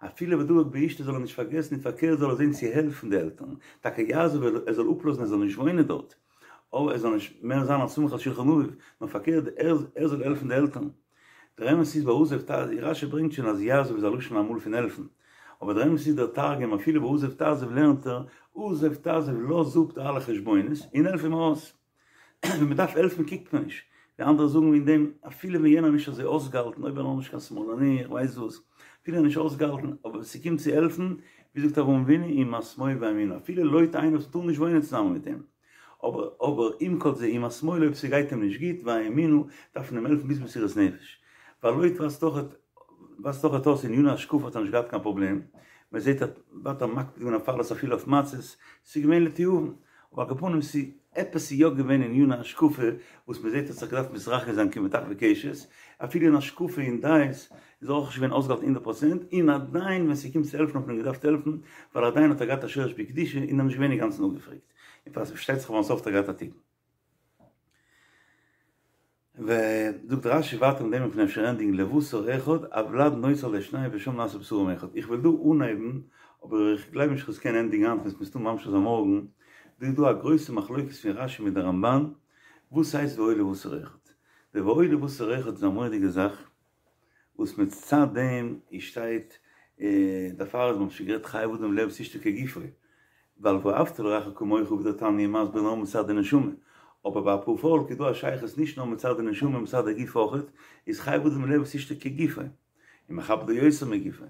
אפילו ודבק באשתו זאל ער נישט פארגעסן און פארקערט זאל ער זען צו העלפן די עלטערן, טאקע יעזוב ער זאל אפלאזן ער זאל נישט וואוינען דארט, אבער ער זאל נישט מער זיין א סמוך על שלחן אביו, נאר פארקערט ער זאל העלפן די עלטערן. דער אמת איז ביי עזוב תעזוב, רשי ברענגט שוין אז יעזוב איז א לשון אמאל פון העלפן, אבער דער אמת איז דער תרגום אפילו ביי עזוב תעזוב לערנט ער עזוב תעזוב לאז אפ די אלע חשבונות און העלף אים ארויס. ווען מען דארף העלפן קוקט מען נישט, ווי אנדערע זאגן אין דעם אפילו ווען יענער איז נישט אזוי אויסגעהאלטן אויב ער איז נישט קיין שמאלני איך ווייס וואס, אפילו ער איז נישט אויסגעהאלטן אבער ווען ס'קומט צו העלפן, ווי זאגט אברהם אבינו אם השמאל ואימינה אפילו לויט איינער וואס מ'טאר נישט וואוינען צוזאמען מיט אים, אבער אבער עם כל זה אם השמאל אויב ס'גייט אים נישט גוט ואימינה דארף מען אים העלפן ביז מסירות נפש, ווייל לויט וואס דאך וואס דאך אויס אין עניני השקפה האט ער נישט געהאט קיין פראבלעם, מען זעט ער האט ווייטער מקפיד געווען אויף אלעס אפילו אויף מצות, ס'איז געווען לתיאבון, אבער על כל פנים ס'איז עפעס איז יא געווען אין עניני השקפה וואס מען זעט האט זיך געדארפט מתרחק זיין כמטחווי קשת, אפילו אין השקפה און דעות איז ער אויך נישט געווען אויסגעהאלטן הונדערט פראצענט, און עדיין ווען ס'קומט צו העלפן האט מען אים געדארפט העלפן, ווייל עדיין האט ער געהאט א שורש בקדושה און ער איז נישט געווען אינגאנצן אפגעפרעגט, און פארשטייט זיך ביים סוף האט ער געהאט א תיקון. וזאגט רשי ווייטער מיט דעם וועט מען אפשר ענדיגן לבשר אחד הולד נוצר על ידי שניים ושם נעשה בשרם אחד איך וויל דא אנהייבן אבער איך גלייב נישט איך קען ענדיגן היינט מ'וועט מסתם ממשיך זיין מארגן דא איז דא א גרויסע מחלוקת פון רשי מיט די רמבן וואס הייסט והיו לבשר אחד די והיו לבשר אחד איז א מורא'דיגע זאך וואס מצד דעם איז שטייט דערפאר איז מען שוין גערעדט חייב אדם לאהוב את אשתו כגופו, ווייל ואהבת לרעך כמוך ווי דער תניא מסביר נאר מצד די נשמה, אבער ביי א פאר פאלק איז דא א שייכות נישט נאר מצד די נשמה מצד די גוף אויכעט, איז חייב אדם לאהוב את אשתו כגופו, און מכבדו יותר מגופו.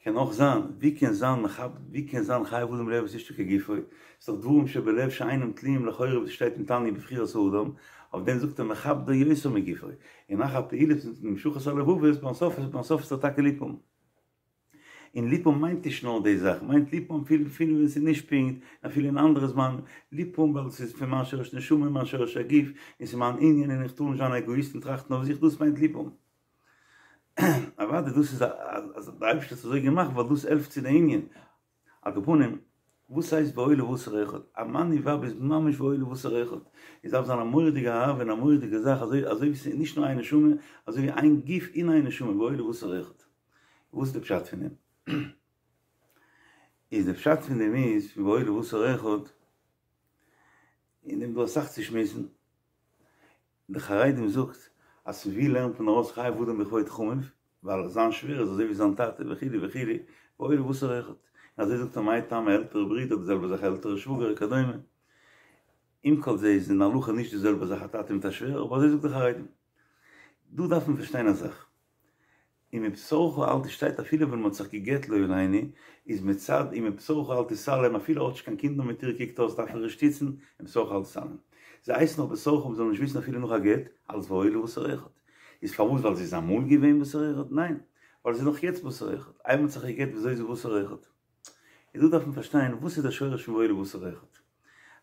קען אויך זיין, ווי קען זיין מכבד, ווי קען זיין חייב אדם לאהוב את אשתו כגופו, ס'איז דאך דברים שבלב שאינם תלויים לכאורה וואס שטייט אין תניא בבחירת האדם, אויף דעם זאגט ער מכבדו יותר מגופו, און אחר פעולת המשכת הלבבות ביים סוף ביים סוף איז ער טאקע ליב האבן. און ליב האבן מיינט נישט נאר די זאך, מיינט ליב האבן אפילו אפילו ווען ס'איז נישט פונקט, אפילו אין אנדערע זמן, ליב האבן ווייל ס'איז פון מיין שורש נשמה און מיין שורש הגוף, און ס'איז מיין ענין און איך טאר נישט זיין א עגאיסט און טראכטן אויף זיך, דאס מיינט ליב האבן. אוודאי דאס איז אז דער אייבערשטער האט עס אזוי געמאכט ווייל דאס העלפט צו די ענין. על כל פנים, וואס הייסט והיה לבשר אחד? א מאן און ווייב איז ממש והיה לבשר אחד. עס דארף זיין א מורא'דיגע אהבה און א מורא'דיגע זאך אזוי אזוי ווי ס'איז נישט נאר איין נשמה, אזוי ווי איין גוף און איין נשמה והיה לבשר אחד. וואס איז די פשט פון דעם? איז די פשט פון דעם איז פון והיה לבשר אחד, אין דעם איז דא אסאך צו שמועסן. די חרדים זאגט אז פון ווי לערנט מען ארויס חייב אדם בכבוד חמיו, ווייל זיין שווער איז אזוי ווי זיין טאטע וכו' וכו', והיה לבשר אחד, און אזוי זאגט ער מאי טעמא עלטערע ברודער די זעלבע זאך עלטערע שוואגער וכדומה, עם כל זה איז אין הלכה נישט די זעלבע זאך א טאטע מיט א שווער, אבער אזוי זאגט די חרדים. דא דארף מען פארשטיין א זאך. ומבשרך אל ת שטייט אפילו ווען מ'האט זיך גע'גט לא עלינו, איז מצד ומבשרך אל תתעלם אפילו ער האט נישט קיין קינדער מיט איר קוקט אויס דארף ער איר שטיצן, ומבשרך אל תתעלם. זי הייסט נאך בשרך און מ'זאל נישט וויסן אפילו נאך א גט, אלס והיה לבשר אחד. איז פארוואס ווייל זי איז אמאל געווען בשר אחד? ניין, ווייל זי איז נאך יעצט בשר אחד. איי מ'האט זיך גע'גט וויאזוי איז זי בשר אחד? איז דא דארף מען פארשטיין וואס איז דער שורש פון והיה לבשר אחד.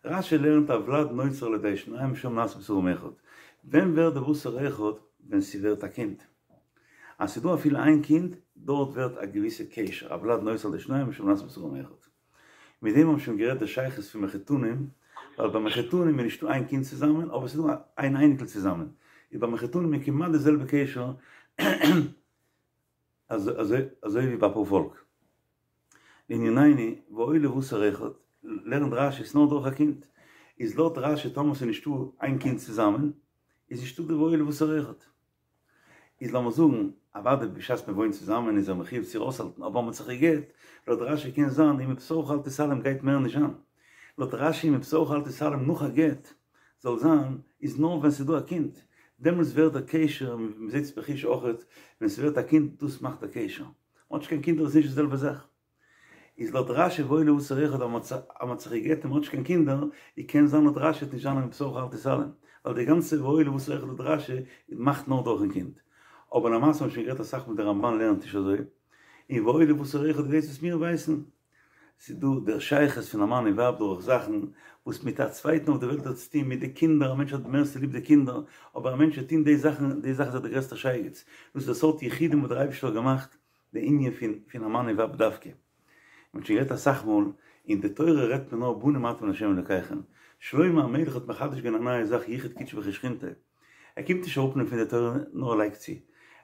רש"י לערנט הולד נוצר על ידי שניים ושם נעשה בשרם אחד. ווען ווערט די בשר אחד? ווען ס'ווערט א קינד. אז ס'דא אפילו איין קינד, דארט ווערט א געוויסע קשר, הולד נוצר על ידי שניים ושם נעשה בשרם אחד. מיט דעם האבן שוין גערעדט די שייכות פון מחותנים, ווייל ביי מחותנים איז נישטא איין קינד צוזאמען, אבער ס'איז דא איין אייניקל צוזאמען. איז ביי מחותנים איז כמעט די זעלבע קשר אזוי ווי ביי פארפאלק. לענינינו, והיה לבשר אחד, לערנט רש"י ס'נאר דורך א קינד, איז לויט רש"י טאמער ס'איז נישטא איין קינד צוזאמען, איז נישטא די והיה לבשר אחד. איז לאמיר זאגן, אוודאי בשעת מען וואוינט צוזאמען איז ער מחיוב צו איר אויסהאלטן, אבער מען האט זיך גע'גט, לויט רש"י קען זיין ומבשרך אל תתעלם גייט מער נישט זיין. לויט רש"י ומבשרך אל תתעלם נאך א גט זאל זיין, איז נאר ווען ס'איז דא א קינד, דעמאלטס ווערט דער קשר, מען זעט עס בחוש אויכעט, ווען ס'ווערט א קינד דאס מאכט דער קשר. מען האט נישט קיין קינדער איז נישט די זעלבע זאך. איז לויט רש"י והיה לבשר אחד אז מען האט זיך גע'גט און מען האט נישט קיין קינדער, איז קען זיין לויט רש"י וועט נישט זיין ומבשרך אל תתעלם, ווייל די גאנצע והיה לבשר אחד לויט רש"י מאכט נאר דורכן קינד. אבער למעשה האבן מיר שוין גערעדט אסאך מאל די רמב"ן לערנט נישט אזוי, און והיה לבשר אחד איז דאס וואס מיר ווייסן. ס'איז דא דער שייכות פון א מאן און ווייב דורך זאכן וואס מיט א צווייטן אויף די וועלט האט צוטון מיט די קינדער, א מענטש האט מערסטע ליב די קינדער, אבער א מענטש וועט טון די זאכן, די זאך איז ער דער גרעסטער שייגעץ. דאס איז די סארט יחודים וואס דער אייבערשטער האט געמאכט, די ענין פון פון א מאן און ווייב דווקא. מען האט שוין גערעדט אסאך מאל, אין די תורה רעדט מען נאר בנים אתם לה' אלקיכם. שלמה המלך האט מחדש געווען א נייע זאך יחוד קודשא בריך הוא ושכינתיה. ער קומט נישט אראפנעמען פון די תורה נאר ער לייגט צו.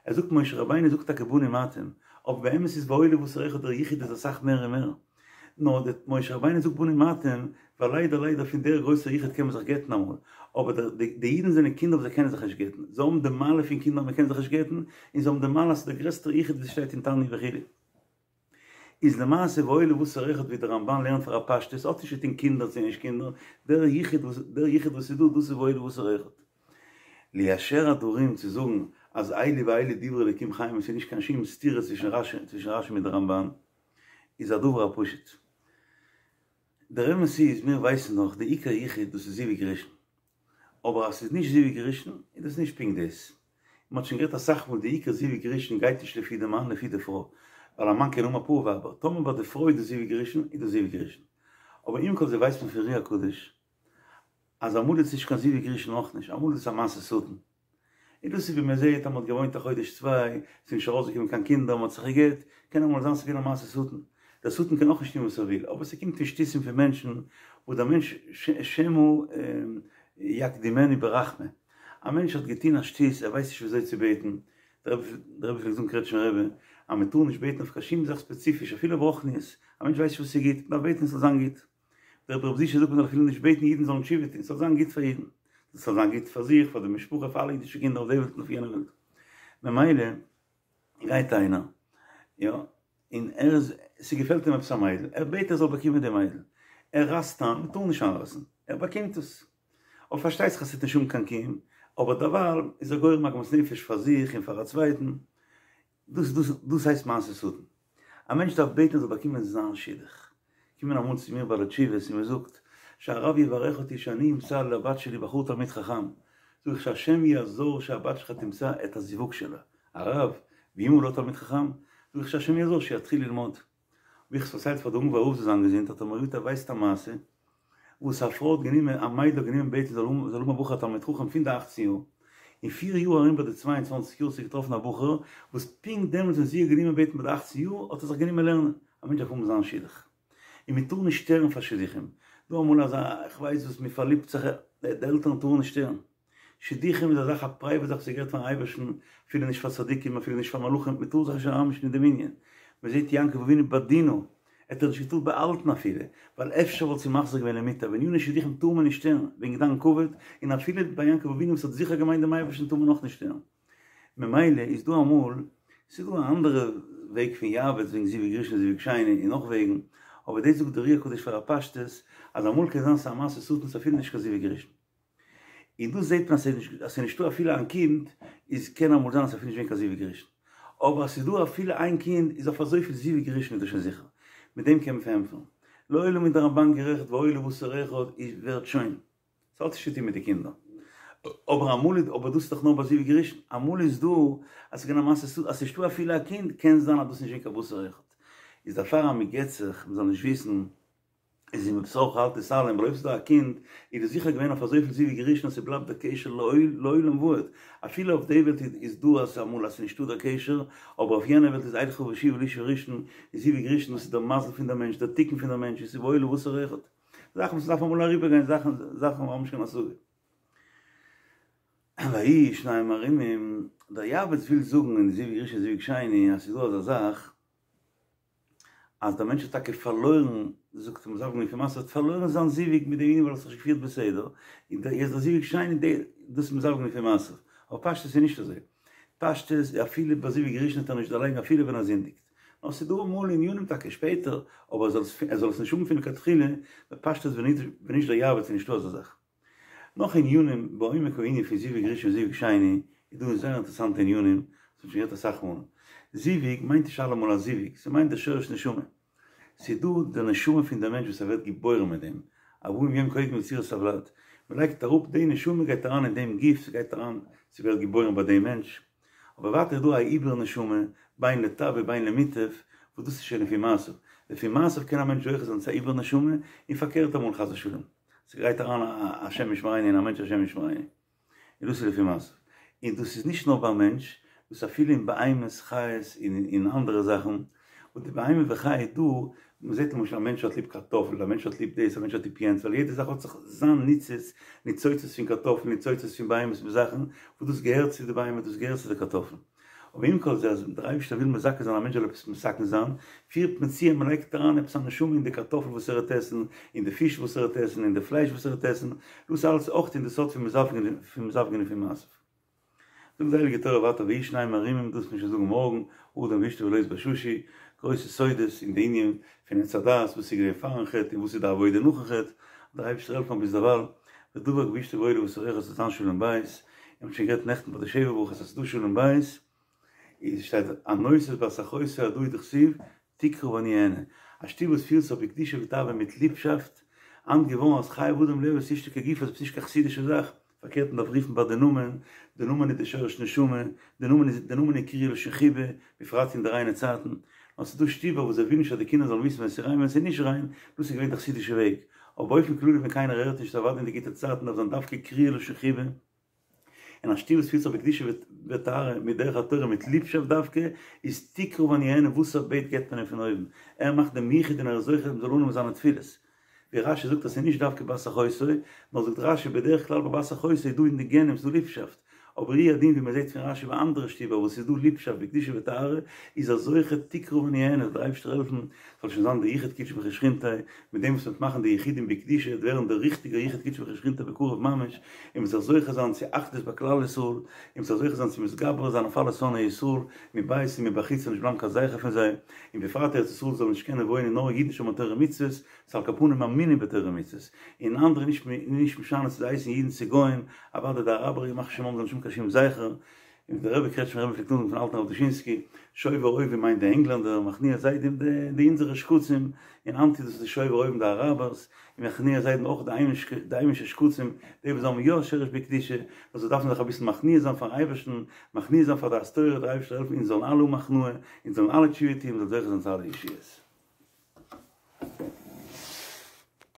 ער זאגט משה רבינו זאגט טאקע בנים אתם, אבער באמת איז והיה לבשר אחד דער יחוד איז אסאך מער און מער. נאר די משה רבינו זאגט בנים אתם, ווייל ליידער ליידער פון דער גרויסער יחוד קען מען זיך גט'ן אמאל, אבער די די אידן זענען קינדער וואס זיי קענען זיך נישט גט'ן, זיי האבן די מעלה פון קינדער מען קען זיך נישט גט'ן, און זיי האבן די מעלה אז ס'איז דער גרעסטער יחוד ווי ס'שטייט אין תניא וכו'. איז למעשה והיה לבשר אחד ווי דער רמב"ן לערנט פאר א פשטות האט נישט צו טון קינדער צו נישט קינדער, דער יחוד וואס דער יחוד וואס איז דא דאס איז והיה לבשר אחד. ליישר הדברים צו זאגן אז אלו ואלו דברי אלוקים חיים עס איז נישט קיין שום סתירה צווישן רש"י צווישן רש"י מיט די רמב"ן איז א דבר הפשוט. דער אמת איז מיר ווייסן דאך די עיקר יחוד דאס איז זיווג ראשון. אבער אז ס'איז נישט זיווג ראשון איז דאס נישט פונקט דאס. מ'האט שוין גערעדט אסאך מאל די עיקר זיווג ראשון גייט נישט לפי די מאן לפי די פרוי. ווייל א מאן קען האבן אפאר ווייבער. טאמער ביי די פרוי איז דאס זיווג ראשון איז דאס זיווג ראשון. אבער עם כל זה ווייסט מען פון אר"י הקדוש אז אמאל איז עס נישט קיין זיווג ראשון אויך נישט, אמאל איז עס א מעשה שטן. און דאס איז ווי מען זעט אז מען האט געוואוינט א חודש צוויי, ס'איז נישט ארויסגעקומען קיין קינדער, מען האט זיך גע'גט, קען אמאל זיין ס'איז געווען א מעשה שטן. דער שטן קען אויך נישט טון וואס ער וויל, אבער ס'קומט פון שטותים פון מענטשן, וואס דער מענטש שמא יקדימנו ברחמים. א מענטש האט געטון א שטות, ער ווייסט נישט ווי אזוי צו בעטן, דער רבי פלעגט זאגן קרעטשניפער רבי, אז מען טאר נישט בעטן אויף קיין שום זאך ספעציפיש, אפילו ברוחניות, א מענטש ווייסט נישט וואס איז גוט, מען דארף בעטן עס זאל זיין גוט. דער רבי ר' זושא זאגט מען זאל אפילו נישט בעטן אידן זאלן תשובה טון, ס'זאל זיין גוט פאר אידן, ס'זאל זיין גוט פאר זיך, פאר די משפחה, פאר אלע אידישע קינדער אויף די וועלט און אויף יענע וועלט. ממילא גייט איינער, יא, און ער איז, ס'געפעלט אים עפעס א מיידל, ער בעט ער זאל באקומען די מיידל, ער רייסט איין, מ'טאר נישט איינרייסן, ער באקומט עס, אבער פארשטייט זיך אז ס'וועט נישט האבן קיין קיום, אבער דערווייל איז ער גורם עגמת נפש פאר זיך און פאר א צווייטן, דאס דאס דאס הייסט מעשה שטן. א מענטש דארף בעטן ער זאל באקומען זיין שידוך. קומען אמאל צו מיר בעלי תשובות און מען זאגט, שהרב יברך אותי שאני אמצא לבת שלי בחור תלמיד חכם. זאג איך שהשם יעזור שהבת שלך תמצא את הזיווג שלה. הרב, ואם הוא לא תלמיד חכם? זאג איך שהשם יעזור שיתחיל ללמוד. האב איך עס פארציילט פאר די אונגוואר רב זאל זיין געזונט האט ער מיר געזאגט ער ווייסט א מעשה וואס א פרוי האט גענומען א מיידל האט גענומען בעטן זאל האבן זאל האבן א בחור א תלמיד חכם פון די אכצן יאר אין פיר יאר ארום ביי די 22 יאר האט זי געטראפן א בחור וואס פונקט דעמאלטס ווען זי האט גענומען בעטן ביי די אכצן יאר האט ער זיך גענומען לערנען א מענטש דארף האבן זיין שידוך און מען טאר נישט שטערן פאר שידוכים דא אמאל אזא כ'ווייס וואס מען פארליבט זיך די עלטערן טארן נישט שטערן. שידוכים איז א זאך א פרייוואט זאך וואס געהערט פארן אייבערשטן, אפילו נישט פאר צדיקים אפילו נישט פאר מלאכים, מען טאר זיך נישט אריינמישן אין דעם ענין, מען זעט יעקב אבינו ביי דינה, ער האט איר נישט געטארט באהאלטן אפילו, ווייל אפשר וואלט זי מחזיר געווען למוטב, עניני שידוכים טאר מען נישט שטערן, וועגן דיין כבוד, און אפילו ביי יעקב אבינו וואס האט זיכער געמיינט דעם אייבערשטן טאר מען אויך נישט שטערן. ממילא איז דא אמאל, ס'איז דא א אנדערע וועג פון יעבץ וועגן זיווג ראשון זיווג שני און נאך וועגן, אבער דאס זאגט דער אר"י הקדוש פאר א פשטות, אז אמאל קען זיין ס'איז א מעשה שטן ס'איז אפילו נישט קיין זיווג ראשון. און דא זעט מען אז ס'איז נישטא אפילו איין קינד, איז קען אמאל זיין אז ס'איז אפילו נישט געווען קיין זיווג ראשון. אבער אז ס'איז דא אפילו איין קינד איז אויף אזויפיל זיווג ראשון איז דאס שוין זיכער. מיט דעם קען מען פארענטפערן. לעולם איז דער רמב"ן גערעכט והיה לבשר אחד איז ווערט שוין. ס'האט נישט צוטון מיט די קינדער. אבער אמאל איז, אבער דאס איז דאך נאר ביי זיווג ראשון. אמאל איז דא אז ס'איז געווען א מעשה אז ס'איז נישטא אפילו א קינד, קען זיין אז דאס איז נישט געווען קיין בשר אחד. איז דערפאר אז מ'גט זיך, מ'זאל נישט וויסן. איז ומבשרך אל תתעלם, ווייל אויב ס'איז דא א קינד, איז דאס זיכער געווען אויף אזויפיל זיווג ראשון אז ס'בלייבט דער קשר לעולם ועד, אפילו אויף די וועלט איז דא אז אמאל אז ס'איז נישטא דער קשר, אבער אויף יענע וועלט איז אלכה ואשובה לאיש הראשון, איז זיווג ראשון דאס איז דער מזל פון דער מענטש, דער תיקון פון דער מענטש, איז והיה לבשר אחד. זאכן וואס מ'דארף אמאל אריבערגיין, זאכן זאכן וואס מ'האט נישט קיין השגה. ויהיו שניהם ערומים, דער יעבץ וויל זאגן אין זיווג ראשון זיווג שני אז ס'איז דא אזא זאך, אז דער מענטש האט טאקע פארלוירן, זאגט ער מזווג לפי מעשיו, האט פארלוירן זיין זיווג מיט דעם ענין ווייל ער האט זיך נישט געפירט בסדר, און דער יעצט דער זיווג שני די דאס איז מזווג לפי מעשיו, אבער פשטות איז נישט אזוי, פשטות איז אפילו ביי זיווג ראשון וועט ער נישט דערלייגן אפילו ווען ער זינדיגט, נאר ס'איז דא אמאל ענינים טאקע שפעטער, אבער ער זאל עס ער זאל עס נישט האבן פון לכתחילה, בפשטות ווען נישט דער יעבץ איז נישטא אזא זאך. נאך ענינים בעומק הענין פון זיווג ראשון און זיווג שני איז דא זייער אינטערעסאנטע ענינים וואס מ'האט שוין גערעדט אסאך מאל. זיווג מיינט נישט אלעמאל א זיווג, ס'מיינט די שורש נשמה. ס'איז דא די נשמה פון די מענטש וואס ער ווערט געבוירן מיט דעם, ארבעים יום קודם יצירת הוולד, מ'לייגט אראפ די נשמה גייט אריין אין דעם גוף, ס'גייט אריין, ס'ווערט געבוירן ביי דעם מענטש. אבער ווייטער איז דא א עיבור נשמה, בין לטב ובין למוטב, וואס דאס איז שוין לפי מעשיו. לפי מעשיו קען א מענטש זוכה זיין צו א עיבור נשמה, און פארקערט אמאל חס ושלום. ס'גייט אריין א השם ישמרינו אין א מענטש השם ישמרינו. און דאס איז לפי מעשיו. און דאס איז נישט נאר ביי מענטש, דאס איז אפילו אין בהמות, חיות און אין אנדערע זאכן. וואס די בהמה וחיה איז דא, מ'זעט למשל א מענטש האט ליב קארטאפל, א מענטש האט ליב דאס, א מענטש האט ליב יענץ, ווייל יעדע זאך האט זיך זיין ניצוץ, ניצוצות פון קארטאפל, ניצוצות פון בהמות און זאכן, וואס דאס געהערט צו די בהמה, דאס געהערט צו די קארטאפל. אבער עם כל זה אז דער אייבערשטער וויל מזכה זיין א מענטש זאל עפעס מתקן זיין, פירט מען צו אז מען לייגט אריין עפעס א נשמה אין די קארטאפל וואס ער וועט עסן, אין די פיש וואס ער וועט עסן, אין די פלייש וואס ער וועט עסן, דאס אלעס אויך אין די סארט פון מזווגין לפי מעשיו. זאגט די הייליגע תורה ווייטער ויהיו שניהם ערומים, דאס וועט מען שוין זאגן מארגן, אדם ואשתו ולא יתבששו, גרויסע סודות אין די ענין פון עץ הדעת, וואס איז געווען פארן חטא און וואס איז די עבודה נאכן חטא, דער אייבערשטער העלפן ביז דערווייל, ודבק באשתו והיה לבשר אחד ס'זאל זיין שלום בית, און מ'האט שוין גערעדט נעכטן ביי די שבע ברכות אז ס'איז דא שלום בית, איז שטייט הנושא את בת אחותו הדא הוא דכתיב תקרא ואני אענה, א שטוב וואס פירט זיך בקדושה וטהרה מיט ליבשאפט, היינט געווארן אז חייב אדם לאהוב את אשתו כגופו איז נישט קיין חסידישע זאך, פארקערט מ'דארף רופן ביי די נאמען, די נאמען איז די שורש נשמה, די נאמען איז די נאמען איז קריאה לשון חיבה, בפרט אין די ריינע צייטן, נאר ס'איז דא שטיבער וואס זיי ווילן נישט אז די קינדער זאלן וויסן ווען ס'איז ריין ווען ס'איז נישט ריין, דאס איז געווען די חסידישע וועג, אבער באופן כללי ווען קיינער הערט נישט אוודאי אין די גוטע צייטן דארף זיין דווקא קריאה לשון חיבה, און א שטוב וואס פירט זיך בקדושה וטהרה מיט דרך התורה מיט ליבשאפט דווקא, איז תקרא ואני אענה וואס ער בעט געבט מען אים פון אויבן, ער מאכט דעם יחוד און ער איז זוכה מ'זאל אננעמען זיינע תפילות. ווי רש"י זאגט אז ס'איז נישט דווקא בת אחותו, נאר זאגט רש"י בדרך כלל ביי בת אחותו איז דא אין די גנים ס'דא ליבשאפט, אבער הוא הדין ווי מ'זעט פון רש"י ביי אנדערע שטיבער וואס ס'איז דא ליבשאפט בקדושה וטהרה, איז ער זוכה תקרא ואני אענה, זאל דער אייבערשטער העלפן ס'זאל שוין זיין די יחוד קודשא בריך הוא ושכינתיה, מיט דעם וואס מ'וועט מאכן די יחודים בקדושה וועט ווערן דער ריכטיגער יחוד קודשא בריך הוא ושכינתיה בקרוב ממש, און מ'זאל זוכה זיין צו אחדות ביי כלל ישראל, און מ'זאל זוכה זיין צו מתגבר זיין אויף אלע שונאי ישראל, מבית און מבחוץ זאל נישט בלייבן קיין זכר פון זיי, און בפרט ארץ ישראל זאל נישט קענען וואוינען נאר אידן שומרי תורה ומצוות, ס'איז על כל פנים מאמינים בתורה ומצוות, און אנדערע נישט נישט משנה צו זיי הייסן אידן צו גוים, אוודאי די אראבער ימח שמם זאלן נישט האבן קיין שום זכר. און ווי דער רבי קרעטשמער רבי פלעגט נאכזאגן פון אלטן רב דושינסקי, שובר אויבים מיינט די ענגלענדער, מכניע זדים די אונזערע שקצים, און אנטי דאס איז די שובר אויבים די אראבערס, און מכניע זדים אויך די היימישע שקצים, די וואס האבן יא שרש בקדושה, נאר זיי דארפן זיך אביסל מכניע זיין פארן אייבערשטן, מכניע זיין פאר דעת תורה, דער אייבערשטער זאל העלפן אונז זאלן אלע האבן הכנעה, אונז זאלן אלע תשובה טון, מ'זאל זוכה זיין צו אלע ישועות.